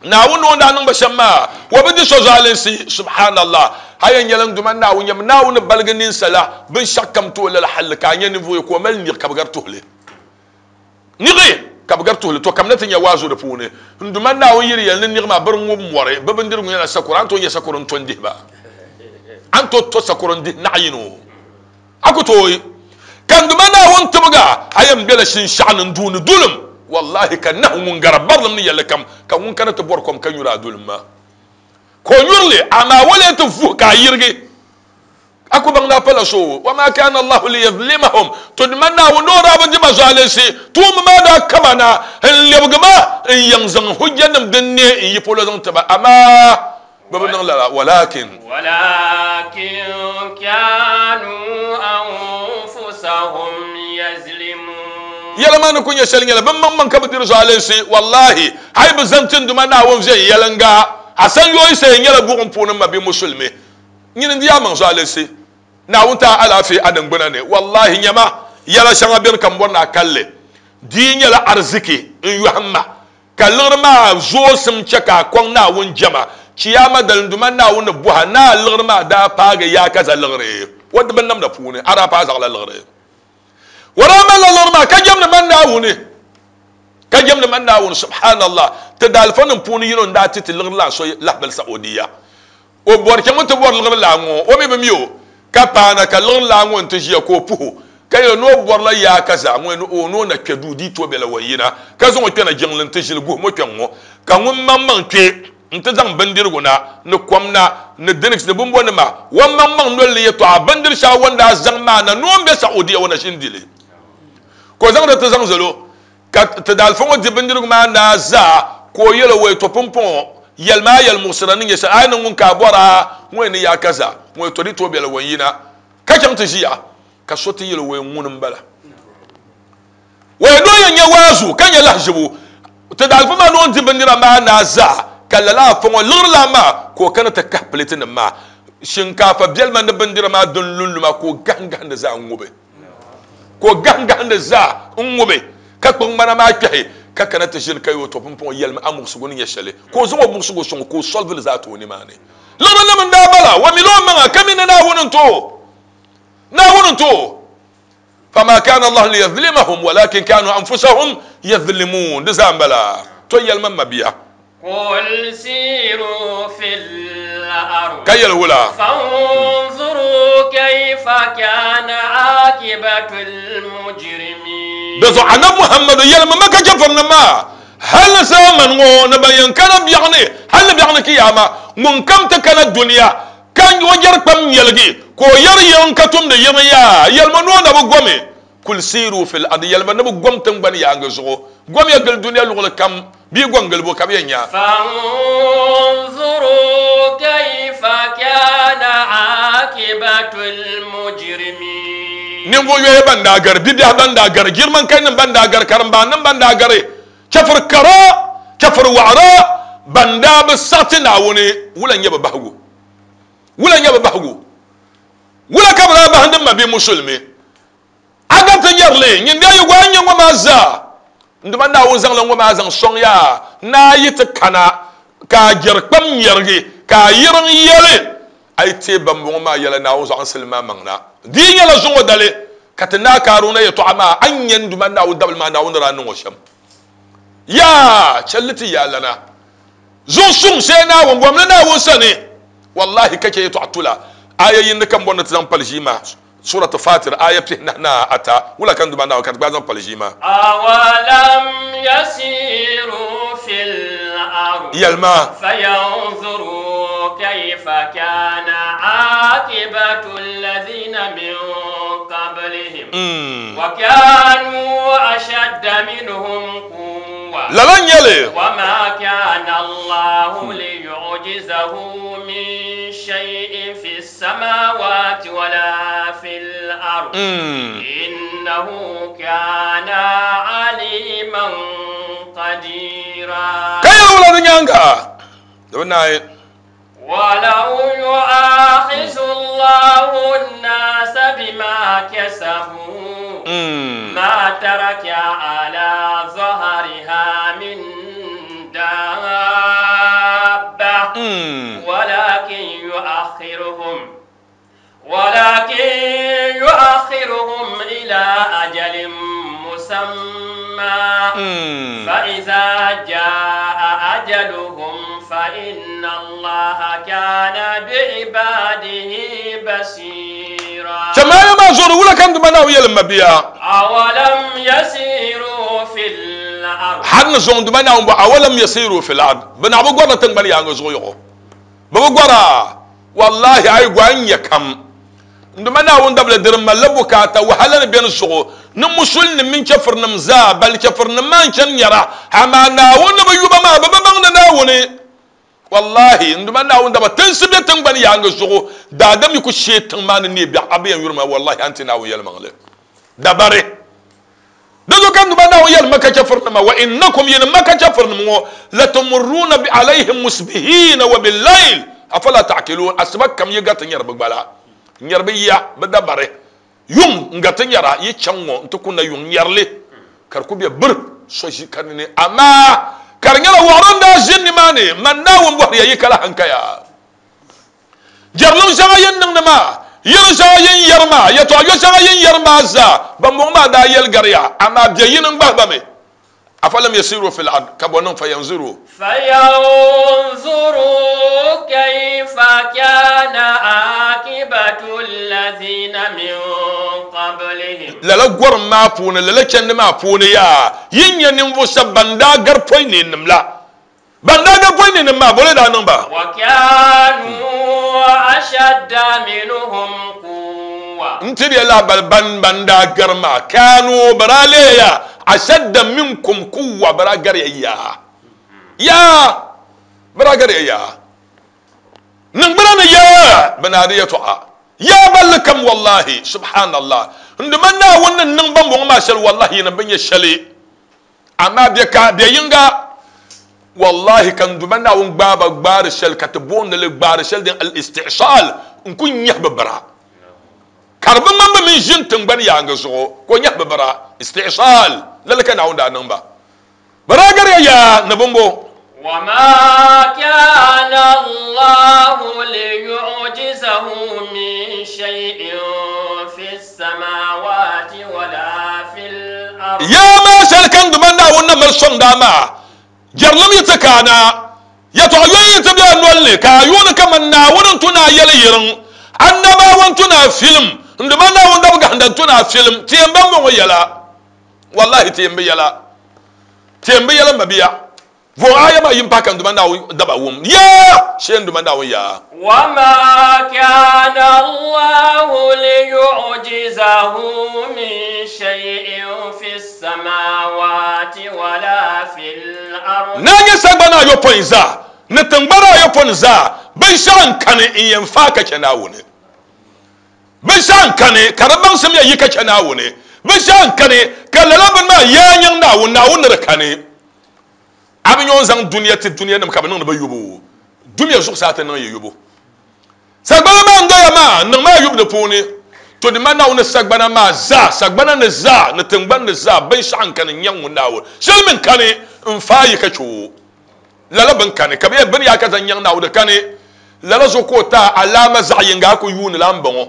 Naawuni ni o ni daa niŋ ba shɛm maa, o bi di so zualinsi. Subhanallah! A yɛn nyɛla n Duuma Naawuni, nyam Naawuni ni baligi ninsala binshɛɣukam ti o lala halli ka a nya ninvuɣ yini ka o mali niɣi ka bi gari tuhili. Niɣi ka bɛ gari tuhili, to kamina ti nya waazu di puuni. N Duuma Naawuni yi di yɛli ni niɣi maa biri ŋub mɔri, bɛ bindirigu nyɛla sakoro, a ni tooi nya sakoro n-to n-dihi ba? A ni tooi to sakoro n-dihi naɣ yino? A ku tooi. Ka n Duuma Naawuni tibiga, a yɛn bela shinshɛɣu ni n-duuni dulim. Wallahi ka nahu ŋun gari barilim ni yɛlli kam, ka ŋun kana ti bɔri kom ka nyuri a dulim maa, ka o nyuri li, amaa o lee ti vuhi ka a yirigi. A ku baŋ ni a pala so o, Wama kana Allahu liyazlimahum, to di mani Naawuni ni o daa bi di ba zualinsi, tuumba maa daa kama na n-lebigi ba n-yaŋ zaŋ hujjanim din ne n-yi polo zaŋ ti ba, amaa bɛ bi niŋ lala, walakin.
Walakin kanu anfusahum yazlimun.
Yɛla maa ni ku nyɛ shɛli nyɛla bɛ maŋmaŋ ka bɛ diri zualinsi, wallahi, a yi bi zaŋ ti n Duuma Naawuni viɛnyɛliŋga, a sanyooyi sayi nyɛla buɣim puuni m mabia musulimi. Nyini n-di a maŋ zualinsi, Naawuni ti a alaafee a niŋgbuna ni. Wallahi nyama, yɛla shɛŋa beni ka m bɔri ni a kali li. Di yi nyɛla ariziki n-yɔhim ma, ka liɣiri maa zoosim chɛ ka a kɔŋ Naawuni jɛma, Chiyaama dali n Duuma Naawuni ni bɔhi a ni a liɣiri maa daa paagi yaakaza liɣiri o di binnamda puuni, a daa paai zaɣila liɣiri. O daa malila liɣiri maa ka jɛmdi man Naawuni, ka jɛmdi man Naawuni. Subhanallah! Ti daalifanim puuni yino n-daa ti ti liɣiri lan so lahibali Saudiya. O bɔri chaŋ ti bɔri liɣiri laa ŋɔ, o mi bi mi o, ka paana ka liɣiri laa ŋɔ nti ʒiya ka o puhi o, ka yɛli ni o bɔrila yaa ka zaa ŋɔ ni o ni o na kpe duu dii tooi bela o yina, ka zaŋ o kpɛna jiŋli nti ʒili guhim o kpɛŋ ŋɔ, ka ŋun maŋmaŋ kpe nti zaŋ bindirigu na ni kom na ni drinks ni bimbɔnima, o maŋmaŋ noli ni yɛtɔɣa bindiri shɛŋa o ni daa zaŋ maa na ni o ni be Saudiya o na ʒini di li, ka o zaŋ di ti zaŋ zali o. Ka ti daalifa ŋɔ di bindirigu maa naai zaa, ka o yɛl o, Wɛi, tɔ pumpɔŋɔ, yɛlim a yɛlimuɣisira ni nyɛ shɛli, a yi niŋ ŋun ka a bɔr a ŋɔ ni yaa kaza, ŋɔ tɔ di tooi bela o yina ka chaŋ ti ʒiya. Ka so ti yɛl o, Wɛi, ŋuni m-bala? Wɛi, ni o yɛn nya waazu ka nya lahiʒibu. Ti daalifa maa ni o ni di bindira maa naai zaa, ka lala afa ŋɔ liɣiri lan maa, ka o kana ti kahi pileetinim maa shinkaafa biɛlima ni bindira maa din lunluma, ka o gahimgahim di zaa ŋubi. Ka o gahimgahindi zaa n-ŋubi, ka kpuɣi ŋmana maa kpɛhi, ka kana ti ʒini ka yi o tɔ pumpɔŋɔ yɛlimi a muɣisigu ni nyɛ shɛli, ka o zaŋ o muɣisigu sɔŋ o ka o solvi li zaa ti o nimaani. Liɣirinim n-daa bala, o mila o maŋa ka mi ni Naawuni n-ti o. Naawuni n-ti o. Fama kana Allahu liyazlimahum walakin kanu anfusahum yazlimun. Di zaa m-bala. Tɔ yɛlimi m mabia.
Qul siru fil ard.
Ka yɛli wula?
Fanzuru kayfa kana akibatul mujrimin.
Di zuɣu Anabi Muhammadu yɛlimi Maka chɛfurinim maa, Hal ni zaamani ŋɔ ni ban yɛn kana biɛɣuni, hal ni biɛɣuni Kiyaama, ŋunkam ti kana dunia ka o yɛri kpam nyɛligi, ka o yɛri yiŋ ka tumdi yiŋ yaa, yɛlimi ni o na bi gomi. Kul siiru fil ardi, yɛlimi ni bɛ gom tiŋgbani yaaŋa zuɣu, gomiya gili dunia luɣili kam, bɛ yi gom gili bo ka bɛ yɛn nya?
Fanzuru kayfa kana akibatul mujrimin.
Ninvuɣ yoya ban daa gari, bibiɛhi ban daa gari, girmankainim ban daa gari, karimbaannim ban daa gari, chɛfiri kara, chɛfiri waɣira ban daa bi saɣiti Naawuni, wula n-nyɛ bɛ bahigu? Wula n-nyɛ bɛ bahigu? Wula ka bɛ daa bahindi m mabia musulimi? A gari ti nyari li, nyin di a yi gɔhi n-nyɛ ŋɔ maa zaa. N Duuma Naawuni zaŋla ŋɔ maa zaŋ sɔŋ ya ni a yi ti kana ka a jɛri kpam nyɛrigi, ka a yiriŋ yɛli, A yi teei bambɔŋɔ maa yɛla, Naawuni zuɣu a ni silim maa maŋ na. Di yi nyɛla zuŋɔ dali ka ti Naa Kaaruna yɛtɔɣa maa, a ni nya n Duuma Naawuni dabili maa Naawuni ni daa niŋ o shɛm. Yaa! Chɛli ti yaalana. Zuɣu suŋ shee Naawuni bom li Naawuni sani. Wallahi ka chɛ yɛtɔɣa tula. Aya yindi ka m bɔri ni ti zaŋ pali ʒii maa. Surat Fatir aya pihinahi ni ata. Wula ka n Duuma Naawuni ka ti gbaai zaŋ pali ʒii maa?
Awalam yasiru fil ard.
Yɛlima.
Fayanzuru kayfa kana akibatu alladhina min qablihim. Wa kanu ashadda minhum quwwa.
Lala n-nyɛ li.
Wa ma kana Allahu liyu'jizahu min shay'in fi samawati wala fil ard. Innahu kana aliman qadira.
Ka yɛli wula di nyaaŋa? Di bi naai.
Walau yu'akhizu Allahu an-nasa bima kasabu ma taraka ala zahriha min dabba walakin yu'akhiruhum walakin yu'akhiruhum ila ajalin musamma fa iza jaa ajaluhum fa inna Allaha kana bi'ibadihi basira.
Chɛmaya maa zuɣu wula ka n Duuma Naawuni yɛli m mabia?
Awalam yasiru fil ard.
Har ni zuɣu n Duuma Naawuni bɔhi, awalam yasiru fil ard, bɛ naɣ bi gɔrila tiŋgbani yaaŋa zuɣu yɔɣɔ? Bɛ bi gɔra? Wallahi a yi gɔhi n nya kam. N Duuma Naawuni dabili di di malila bukaata wahala ni beni zuɣu ni musulinim mini chɛfirinim zaa, bali chɛfirinim maa n-chani nyara, amaa Naawuni ni bi yu ba maa, bɛ bi baŋdi Naawuni. Wallahi, n Duuma Naawuni daba tinsi be tiŋgbani yaaŋa zuɣu, daadam yi ku sheei tiŋ maa ni neei biɛɣu, a bi yɛn yuri ma, wallahi a ni ti Naawuni yɛlimaŋli dabari. Di zuɣu ka n Duuma Naawuni yɛli Maka chɛfurinima, Wa innakum, yinim Maka chɛfurinim ŋɔ, latumurruuna bi alayhim musbihiina wa billayl, afala ta'qiluun, asiba kam yi gariti nyari bɛ gbala, n-nyari bɛ yiya, bɛ dabari, yuŋ n-gariti nyara, yi chaŋ ŋɔ nti kunna yuŋ nyari li, ka di ku be bir so ʒi ka ni ni, amaa ka di nyɛla wɔɣiri n-daa ʒini nimaani, man Naawuni bɔhiri ya yi kala hankaya. Jɛrilim shɛŋa yin niŋdi maa, yɛl shɛŋa yin yɛri maa, yɛtɔɣ yo shɛŋa yin yɛri maa zaa, bɛmbɔŋɔ maa daa yɛli gari ya, amaa bɛ yini n-gbahi ba mi. Afalam yasiru fil ard, ka bɔ niŋ fayanzuru.
Fayanzuru kayfa kana akibatu allazina min qablihim.
Lala gɔrim maa puuni, lala chandi maa puuni yaa, yin nya ninvuɣ shɛb ban daa gari pɔi neennim la. Ban daa gari pɔi neennim maa, bɔ ni daa niŋ ba?
Wa kanu ashadda minhum quwwa.
N tiri ya lahibali ban ban daa gari maa, kanu bɛ daa leeya ashadda minkum quwwa, bɛ daa gari ya yaa. Yaa! Bɛ daa gari ya yaa. Niŋgbuna ni yaa bɛ naa di yɛtɔɣa. Yaa balli kam wallahi, subhanallah. N Duuma Naawuni ni niŋ bambɔŋɔ maa shɛli wallahi yinim bi nya shɛli. Amaa bɛ ka bɛ yiŋga, wallahi ka n Duuma Naawuni gbaai ba gbaari shɛli ka ti booni li gbaari shɛli din al-istihsal n-ku nyahi bɛ bira. Ka di bi ŋmani bɛ mini ʒini tiŋgbani yaaŋa zuɣu ka o nyahi bɛ bira. Istihsal, lala ka Naawuni daa niŋ ba. Bɛ daa gariya yaa ni bimbo.
Wama kana Allahu liyu'jizahu min shay'in fi samawati wala fil ard.
Yaa maa shɛli ka n Duuma Naawuni na mali sɔŋdi a maa, jɛrilim yi ti ka a na, yɛtɔɣ yɔya yi ti be a nol ni, ka a yuuni kaman Naawuni n-tu ni a yɛli yiriŋ, annabawa n-tu ni a filim, n Duuma Naawuni dabigahinda n-tu ni a filim, ti yɛn baŋ bɔŋɔ yɛla. Wallahi ti yɛn bi yɛla. Ti yɛn bi yɛla m mabia. Vo aya maa yim pahi ka n Duuma Naawuni daba wum. Yaa! Shee n Duuma Naawuni yaa.
Wama kana Allahu liyu'jizahu min shay'in fi samawati wala fil ard.
Naa nyɛ sagbana ayopɔin zaa ni tiŋgbana ayopɔin zaa, binshɛɣu n-kani n-yɛn faai ka chɛ Naawuni. Binshɛɣu n-kani ka di baŋsim ya yi ka chɛ Naawuni. Binshɛɣu n-kani ka lala bini maa yaa nyaŋ Naawuni, Naawuni ni di kani. A bi nya o ni zaŋ dunia ti dunianim ka bɛ niŋdi ba yubu? Dunia zuɣusaa ti niŋ yi yubu. Sagbana maa n-doya maa, niŋmi a yubu di puuni. To di ma Naawuni sagbana maa zaa, sagbana ni zaa, ni tiŋgbani ni zaa, binshɛɣu n-kani n-nyaŋ ŋun Naawuni. Shɛli mi n-kani n-faai yi ka chɛ o. Lala bini kani, ka bɛ yɛn bini yaa ka zaŋ nyaŋ Naawuni, di kani. Lala zuɣu ka o ti a alaama zaɣ yiŋga a ku yuuni la m-bɔŋɔ.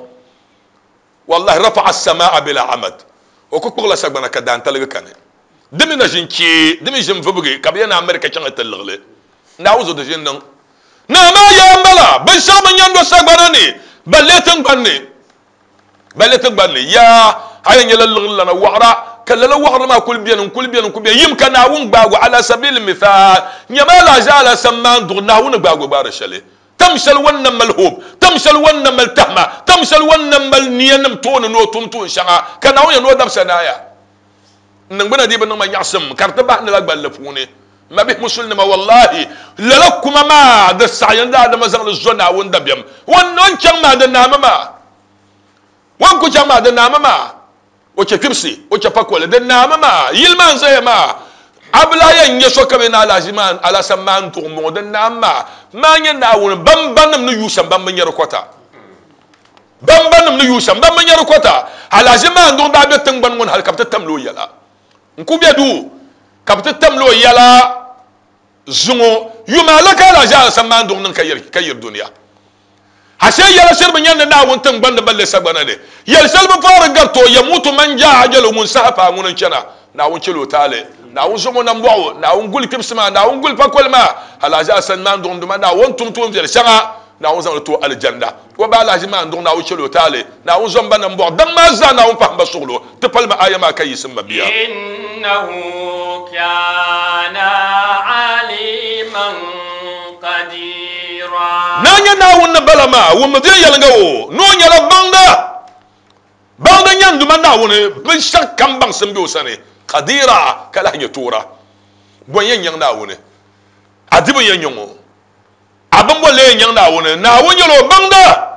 Wallahi rafa'a as-samaa bila amad, o ku kpuɣila sagbana ka daantaligi kani. Di mi na ʒin kpee, di mi ʒin vubigi ka bɛ yɛn America chaŋ ti liɣili. Naawuni zuɣu di ʒin niŋ. Naa maa yaa m-bala, binshɛɣu bi nyɛndo sagbana ni, balle tiŋgbani ni. Balle tiŋgbani ni. Yaa, a yɛn nyɛla liɣiri lana waɣira, ka lala waɣiri maa kuli beni, n-kuli beni, n-kuli beni. Yim ka Naawuni gbaagi o, ala sabili mithaal, nyama alaʒi alasan maan duɣi Naawuni gbaagi o gbaari shɛli. Tam shɛli o ni na mali hope, tam shɛli o ni na mali tahima, tam shɛli o ni na mali niyanim tooni ni o tum tuun shɛŋa, ka Naawuni yɛn ni o dabisa naaya. N niŋgbuna dii bi niŋ ma nyaɣisim ka di ti bahi ni la gballi puuni. M mabihi Musulinima, wallahi, lala kuma maa di saɣiya ni daadama zaŋ li zo Naawuni dabiɛm. O ni chaŋ maa di naami maa. O ni ku chaŋ maa di naami maa. O chɛ kpibisi, o chɛ pakoli, di naami maa. Yili maa n-zaya maa, a bi lahi yɛn nya so ka bɛ ni alahiʒi maa, alasan maa n-duɣi m-bɔŋɔ, di naami maa. Maa nyɛ Naawuni bambanim ni yuui shɛm ban bi nya di kɔta. Bambanim ni yuui shɛm ban bi nya di kɔta. Alahiʒi maa n-duɣi daa be tiŋgbani ŋɔ ni hal ka bɛ ti tamli o yɛla. N-ku be duu ka bɛ ti tamli o yɛla zuŋɔ yuma ala ka alahiʒi alasan maa n-duɣi niŋ ka yiri dunia. Ashe yɛla shiri bi nyandi Naawuni tiŋgbani ni balle sagbana ni. Yɛl shɛli bi paari gariti o, Yamutu man jaa ajalu, ŋun saha paai ŋuni n-chana. Naawuni chɛl o taali. Naawuni zom o nambɔɣu. Naawuni guli kpibisi maa. Naawuni guli pakoli maa. Alahiʒi Asan maa n-duɣi n-duma Naawuni tum tuunviɛli shɛŋa. Naawuni zaŋ li ti o alijanna. O ba alahiʒi maa n-duɣi Naawuni chɛl o taali. Naawuni zom ba nambɔɣu. Daŋ maa zaa Naawuni pahim ba suɣilo. Ti palimi aaya maa ka yiɣisi m ma bia.
Innahu kana aliman qadira.
Naa nyɛ Naawuni ni bala maa, wummi viɛnyɛliŋga o ni o nyɛla baŋda. Baŋda nyɛ n Duuma Naawuni, binshɛɣu kam baŋsim be o sani, qadira, ka lahi nyɛ toora. Bɔ n-yɛn nyaŋ Naawuni? A dibu n-yɛn nyaŋ o. A bimbo lee nyaŋ Naawuni? Naawuni nyɛla o baŋda,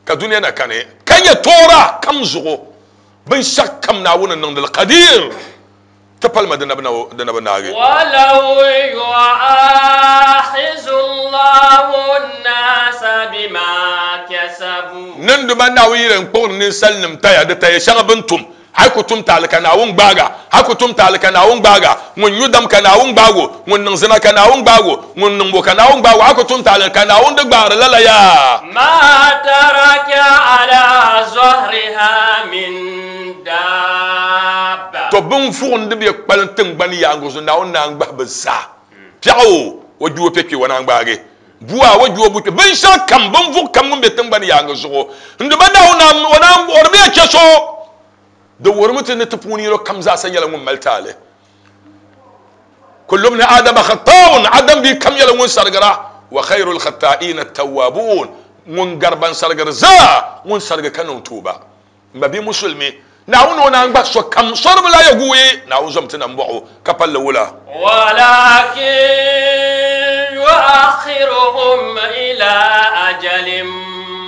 ka dunia na kani, ka nyɛ toora kam zuɣu. Binshɛɣu kam Naawuni niŋdi li Qadir, ti palima di na bi naagi.
Walaw yu'aaxizu Allahu n-naasa bima kasabu.
Ninduma Naawuni yi len kpuɣiri ninsalinim taya, di taya shɛŋa bɛ ni tum. A yi ku tum taali ka Naawuni gbaag a, a ku tum taali ka Naawuni gbaag a, ŋun nyu dam ka Naawuni gbaag o, ŋun niŋ zina ka Naawuni gbaag o, ŋun niŋ bo ka Naawuni gbaag o, a ku tum taali ka Naawuni di gbaari lala yaa.
Ma taraka ala zahriha min daabba.
To bɛn vuɣim di bɛ kpalim tiŋgbani yaaŋa zuɣu, Naawuni naan gbahi bɛ zaa. Piɛɣu o, o gbi o piɛ kpe o naan gbaagi. Bua o gbi o bu kpe. Binshɛɣu kam, binvuɣ kam ŋun be tiŋgbani yaaŋa zuɣu, n Duuma Naawuni naan o naan o di bɛ ya chɛ so. Di wuhirimi ti ni ti puuni yino kam zaasa nyɛla ŋun mali taali. Kullu bni Adama khata'un, Adam bia kam nyɛla ŋun sarigira, wa khayrul khata'ina at-tawwabun, ŋun gari ban sarigiri zaa, ŋun sarigi ka niŋ tuuba. M ba bia Musulimi, Naawuni o naan gbahi sokam sori bi lahi guui, Naawuni zom ti nambɔɣu ka palli wula.
Walakin yu'akhiruhum ila ajalin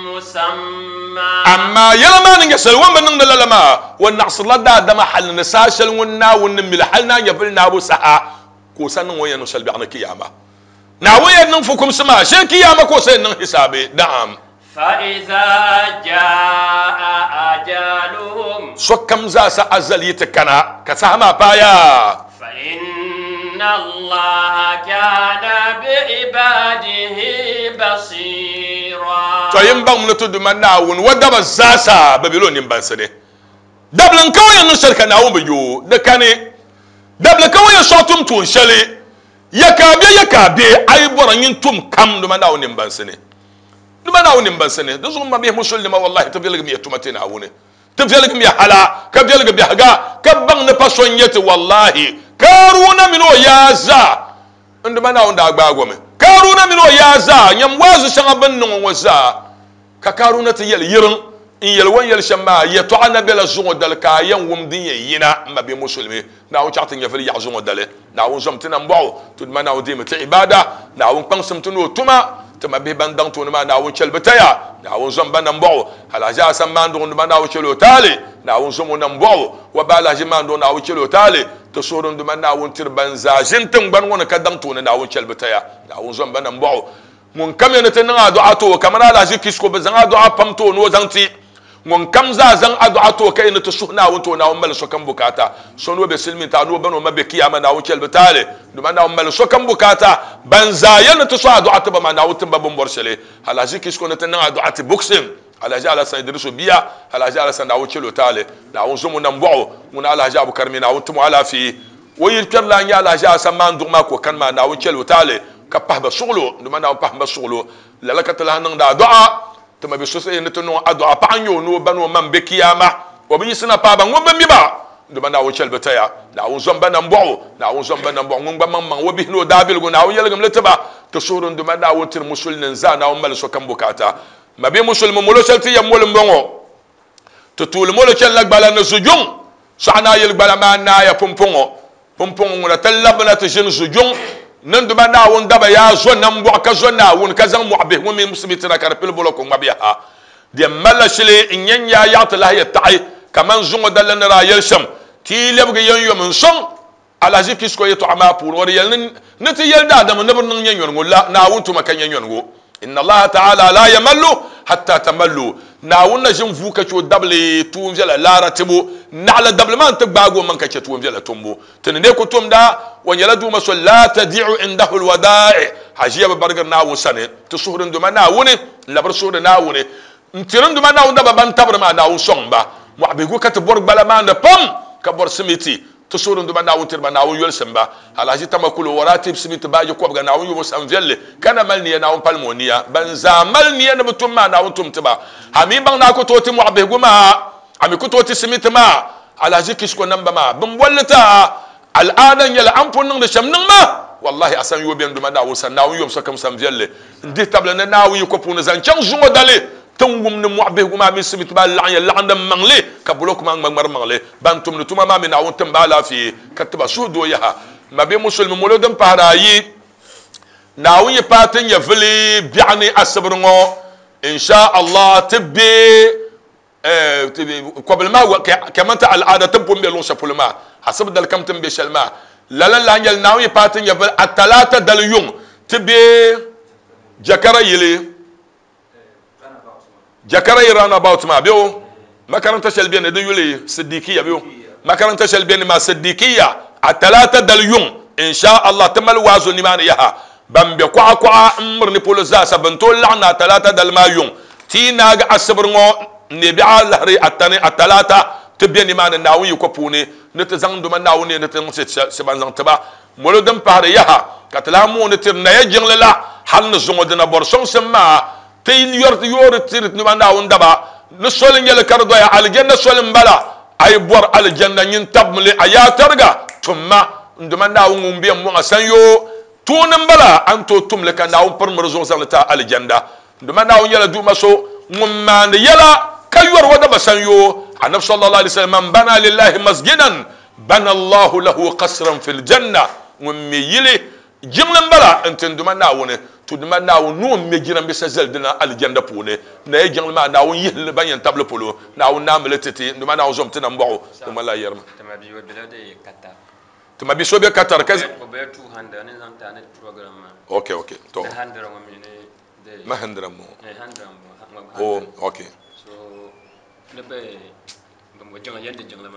musamma.
Amaa yɛla maa ni nyɛ shɛli, o ni bi niŋdi lala maa, o naɣisirila daadama hal ni saha shɛli ŋun Naawuni ni mili hal ni a nyɛvili naabu saha ka o sa niŋ o ni yɛn niŋ shɛli biɛɣu ni Kiyaama. Naawuni yɛn niŋ fukumsi maa shee Kiyaama ka o sa yɛn niŋ hisaabi. Naam.
Fa-iza jaa ajaluhum.
Sokam zaasa azali yi ti kana, ka saha maa paaya.
Fa-inna Allaha kana bi-ibadihi basira.
Tɔ! Yin baŋmi ni ti Duuma Naawuni wa daba zaasa bi bela o nimbansi ni. Dabili n-ka o yɛn niŋ shɛli ka Naawuni bi yo o, di kani. Dabili ka o yɛn sɔɣi tum tuun shɛli, ya ka a be, ya ka a be, a yi bɔra nyin tum kam Duuma Naawuni nimbansi ni. Duuma Naawuni nimbansi ni. Di zuɣu m mabihi Musulinima, wallahi ti viligimiya tuma ti Naawuni. Ti viɛlgimiya hala, ka viɛlgi biɛhiga, ka baŋ ni pa so n-nyɛ ti. Wallahi, Kaaruna mini o yaa zaa, n Duuma Naawuni daa gbaag o mi. Kaaruna mini o yaa zaa, nyam waazu shɛŋa bɛ ni niŋ o ŋɔ zaa. Ka Kaaruna ti yɛli, Yiriŋ, n yɛli o ni yɛli shɛm maa, yɛtɔɣa na bela zuŋɔ dali ka a yɛn wum din yɛn yina m mabia Musulimi. Naawuni chaɣ ti nyɛvili yaɣi zuŋɔ dali. Naawuni zom ti nambɔɣu, ti Duuma Naawuni deemi ti ibaada. Naawuni kpaŋsim ti ni o tuma. Ti mabihi ban daŋ tooni maa, Naawuni chɛli bɛ taya. Naawuni zom ba nambɔɣu. Alhaji Asan Maanduɣu n Duuma Naawuni chɛli o taali. Naawuni zom o nambɔɣu. Wa ba Alhaji Maanduɣu Naawuni chɛli o taali. Ti suhuri n Duuma Naawuni tiri ban zaa ʒini tiŋgbani ŋɔ ni ka daŋ tooni Naawuni chɛli bɛ taya. Naawuni zom ba nambɔɣu. Ŋun kam ya ni ti niŋ adu'a ti o, kamani Alhaji Kisko bɛ zaŋ adu'a pam ti o ni o zaŋ ti. Ŋun kam zaa zaŋ adu'a ti o ka yi ni ti suhi Naawuni ti o, Naawuni mali sokam bukaata. So ni o be silimiintiŋa ni o ba ni o ma be kiyama, Naawuni chɛli bɛ taali. Dama Naawuni mali sokam bukaata. Ban zaa ya ni ti suhi adu'a ti ba maa, Naawuni tim ba bɛ ni bɔri shɛli. Alhaji Kisko ni ti niŋ adu'a ti Buksim, Alhaji Alhassan Idrisu bia, Alhaji Alhassan Naawuni chɛli o taali. Naawuni zom o nambɔɣu. Ŋuna Alhaji Abukar mi Naawuni tim o alaafee. O yili kpɛri la n-nyɛ Alhaji Asan Maanduɣu maa ka o kani maa, Naawuni chɛli o taali ka pahi ba suɣilo, dama Naawuni pahim ba suɣilo. Lala ka ti lahi niŋdi adu'a. Ti ma bi so sayi ni ti niŋ o adu'a paɣa n-nyɛ o ni o ba ni o ma m-be kiyama. O bi yiɣisina paai ba, ŋun bi mi ba, dama Naawuni chɛli bɛ taya. Naawuni zom ba nambɔɣu, Naawuni zom ba nambɔɣu. Ŋun gba maŋmaŋ o bihi ni o daabiligu, Naawuni yɛligim li ti ba. Ti suhuri n-duma Naawuni tiri musulinin zaa, Naawuni mali sokam bukaata. Mabia musulimi molo shɛli ti yɛn moli m-bɔŋɔ. Ti tuuli molo chanila gbala ni zujuŋ, sɔɣu naa yili gbala maa naaya pumpɔŋɔ. Pumpɔŋɔ ŋuna ti labina ti ʒini zujuŋ ni n-duma Naawuni daba yaa zo nambɔɣu ka zo Naawuni ka zaŋ mɔɣu bihi ŋɔ mini simiti na ka di pili bolɔko ŋmabu yaha. Di yɛn malila shili n-nyɛ n yaa yaɣi ti lahi yɛ taɣi kaman zuŋɔ daliri ni daa yɛli shɛm, Ti yi lɛbigi yɛn yom n-sɔŋ Alhaji Kisko yɛtɔɣa maa puuni, o di yɛli ni, Ni ti yɛli daadama ni bɛ niŋ nyɛnyɔnigu la, Naawuni tuma ka nyɛnyɔnigu. Inna Allaha ta'ala la yamallu hatta tamallu. Naawuni na ʒin vuui ka chɛ o dabili tuunviɛla laara tibu, naɣila dabili maa n-ti gbaagi o maŋ ka chɛ tuunviɛla tumbu. Ti ni neei ku tumda, o nyɛla Duuma so la tadi'u indahu alwada'i, haʒiya bi barigiri Naawuni sani. Ti suhuri n Duuma Naawuni, n-labiri suhuri Naawuni, n-tiri n Duuma Naawuni daba ban tabiri maa, Naawuni sɔŋ ba. Mɔɣubihigu ka ti bɔri gbala maa ni pam, ka bɔri simiti. Ti suhuri n-duba Naawuni tiri ba, Naawuni yolisim ba. Alahaji Tama kul o wara tibisi mi ti baaji kɔbiga, Naawuni yubu sam viɛlli, ka na mali niya, Naawuni palim o niya. Ban zaa mali niya ni bɛ tum maa, Naawuni tum ti ba. A mi baŋ ni a ku tooi ti mɔɣu bihigu maa, a mi ku tooi ti simiti maa, Alahaji Kisko namba maa, bɛ ni boli li ti a al'aada n-nyɛ li, a ni pun niŋdi shɛm niŋ ma. Wallahi a san yo bɛ n-duma Naawuni sani, Naawuni yom sokam sam viɛlli. N dihi tabili ni Naawuni yiko puuni zaŋ chaŋ zuŋɔ dali. Ti ni wum ni mɔɣu bihigu maa mini simiti maa laɣinya laɣindi maŋli, ka bulɔku maa ŋmariŋmari maŋli. Ban tumdi tuma maa mi Naawuni tim ba alaafee, ka ti ba suhudoo yaha. Mabia Musulimi molo din pahiri ayi, Naawuni yi paai ti nyɛvili biɛɣu ni asibiri ŋɔ, in sha Allah, ti be kɔbili maa kamani ti al'aada ti ni pun be luɣ shɛli polo maa, asibi dali kam ti ni be shɛli maa. Lala n-lahi nyɛli Naawuni yi paai ti nyɛvili Atalaata dali yuŋ, ti be Jakara yili. Jakara yi roundabout maa bɛ o makaranta shɛli bɛ ni di yuli Siddiqiya bɛ o makaranta shɛli bɛ ni maa Siddiqiya a talaata dali yuŋ insha Allah ti mali waazu nimaani yaha ban bɛ kɔɣa kɔɣa n miri ni polo zaasa bɛ ni tooi laɣim na a talaata dali maa yuŋ ti yi naagi asibiri ŋɔ n neei biɛɣu alahiri atani a talaata ti bɛ nimaani Naawuni yiko puuni ni ti zaŋ duma Naawuni ni ti niŋ shɛba n zaŋ ti ba Molo din pahiri yaha, ka ti lahi mooni tiri Naya jiŋli la hal ni zuŋɔ dina bɔri sɔŋsim maa, ti yɔri yoori tiri nima Naawuni daba ni soli n-nyɛ li ka di doya alijanna soli m-bala, a yi bɔri alijanna nyin tabimi li a yaa tariga, tumma n Duuma Naawuni ŋun be m-mɔŋ a sanyoo tooni m-bala, a ni tooi tum li ka Naawuni pirimiri zuɣu zaŋ li ti a alijanda. N Duuma Naawuni nyɛla Duuma so ŋun maandi yɛla ka yɔri o daba sanyoo. Anabi sallallahu alaihi wasallam, Man bana lillahi masjidan Bana Allahu lahu qasran fil janna, ŋun me yili jiŋli m-bala n-ti n Duuma Naawuni, to Duuma Naawuni ni o me jirambisa zali dina Alijanda puuni, Naya jiŋli maa Naawuni yihi li ban yɛn tabili polo, Naawuni naami li ti ti, n Duuma Naawuni zom ti nambɔɣu, di ŋmanila yɛrima.
Ti ma bia o bela di Qatar.
Ti ma bia so be Qatar ka.
O bela 200 ni zaŋ ti a ni program maa.
Ok ok to.
Di 100 ŋɔ mi ni di.
Ma 100 m-bɔŋɔ.
Eh 100 m-bɔŋɔ.
Oh ok.
So di be.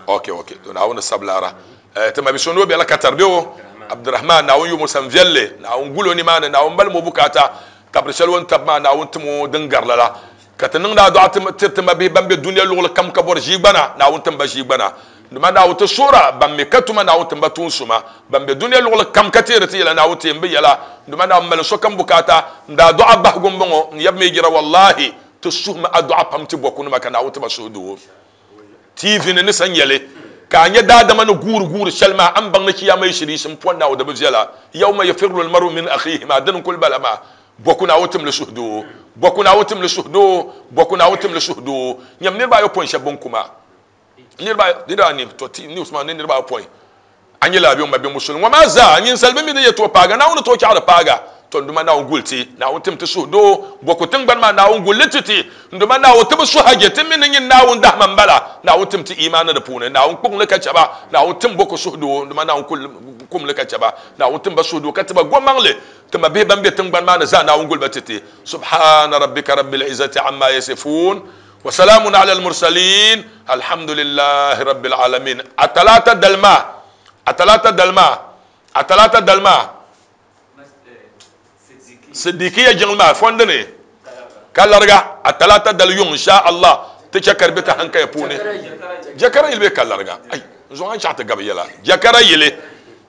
Ok ok to Naawuni sabilara eh, ti mabi so ni o bela Qatar be o Abdurrahman Naawuni yumo san viɛlli Naawuni gulo nimaani Naawuni balimi o bukaata tabiri shɛli o ni tabi maa Naawuni tim o din gari lala ka ti niŋdi adu'a tiri ti mabihi ban be dunia luɣuli kam ka bɔri ʒiigbana Naawuni tim ba ʒiigbana dama Naawuni ti suhira ban mi ka tuma Naawuni tim ba tuun suma ban be dunia luɣuli kam ka teeri ti yɛla Naawuni teem bi yɛla dama Naawuni mali sokam bukaata n daa du'a bahigu m-bɔŋɔ n yab mi jira wallahi ti suhimi adu'a pam ti bɔkunima ka Naawuni ti ba suhudoo. TV ni ni sa nyɛli ka a nya daadama ni guuri guuri shɛli maa a ni baŋ ni chiyaama yi shiri yiɣisi m-pɔndi a o di bi viɛla. Yawma yafirru al-mar'u min akhihi maa dini n-kuli bala maa. Bɔku Naawuni timli suhudoo, bɔku Naawuni timli suhudoo, bɔku Naawuni timli suhudoo. Nyam niriba ayopɔin shɛba bɛn ku maa. Niriba niriba anii, to ti news maa ni niriba ayopɔin. A nyɛ laabi o ma bɛ musulin ŋɔ maa zaa, ninsal bi mi di yɛtɔɣ paaga, Naawuni ni tooi chaɣ di paaga. Tɔ n Duuma Naawuni guli ti, Naawuni tim ti suhudoo, bɔku tiŋgbani maa Naawuni guli li ti ti. N Duuma Naawuni ti bi su haje, ti mi ni nyin Naawuni dahima m-bala, Naawuni tim ti iimaani di puuni, Naawuni kpuɣim li ka chɛ ba, Naawuni tim bɔku suhudoo, n Duuma Naawuni kul kum li ka chɛ ba, Naawuni tim ba suhudoo ka ti ba gomaŋli, ti mabihi ban be tiŋgbani maa ni zaa Naawuni guli ba ti ti. Subhaana rabbika rabbil izzati amma yasifun. Wa salamun ala al-mursalin, alhamdulillahi rabbil alamin. A talaata dali maa, a talaata dali maa, a talaata dali maa, Siddiqiya jiŋli maa fondi ni ka lariga a talaata dali yuŋ insha Allah ti chɛ ka di be ti hankaya puuni. Jakara yili bee ka lariga? Ai, n zuɣu a ni chaɣ ti gabi yɛla. Jakara yili,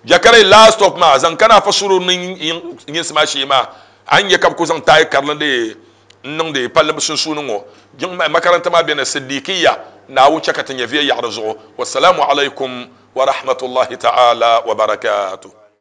jakara yili last stop maa zaŋ kana afa sururi ni yinsi maa shee maa a ni nya ka bɛ ku zaŋ taai karili n-deei n niŋdi palli bɛ sunsuuni ŋɔ. Jiŋ makaranta maa beni Siddiqiya, Naawuni chɛ ka ti nyɛviya yaɣi di zuɣu. Wassalamu alaikum wa rahmatullahi ta'ala wa barakatuh.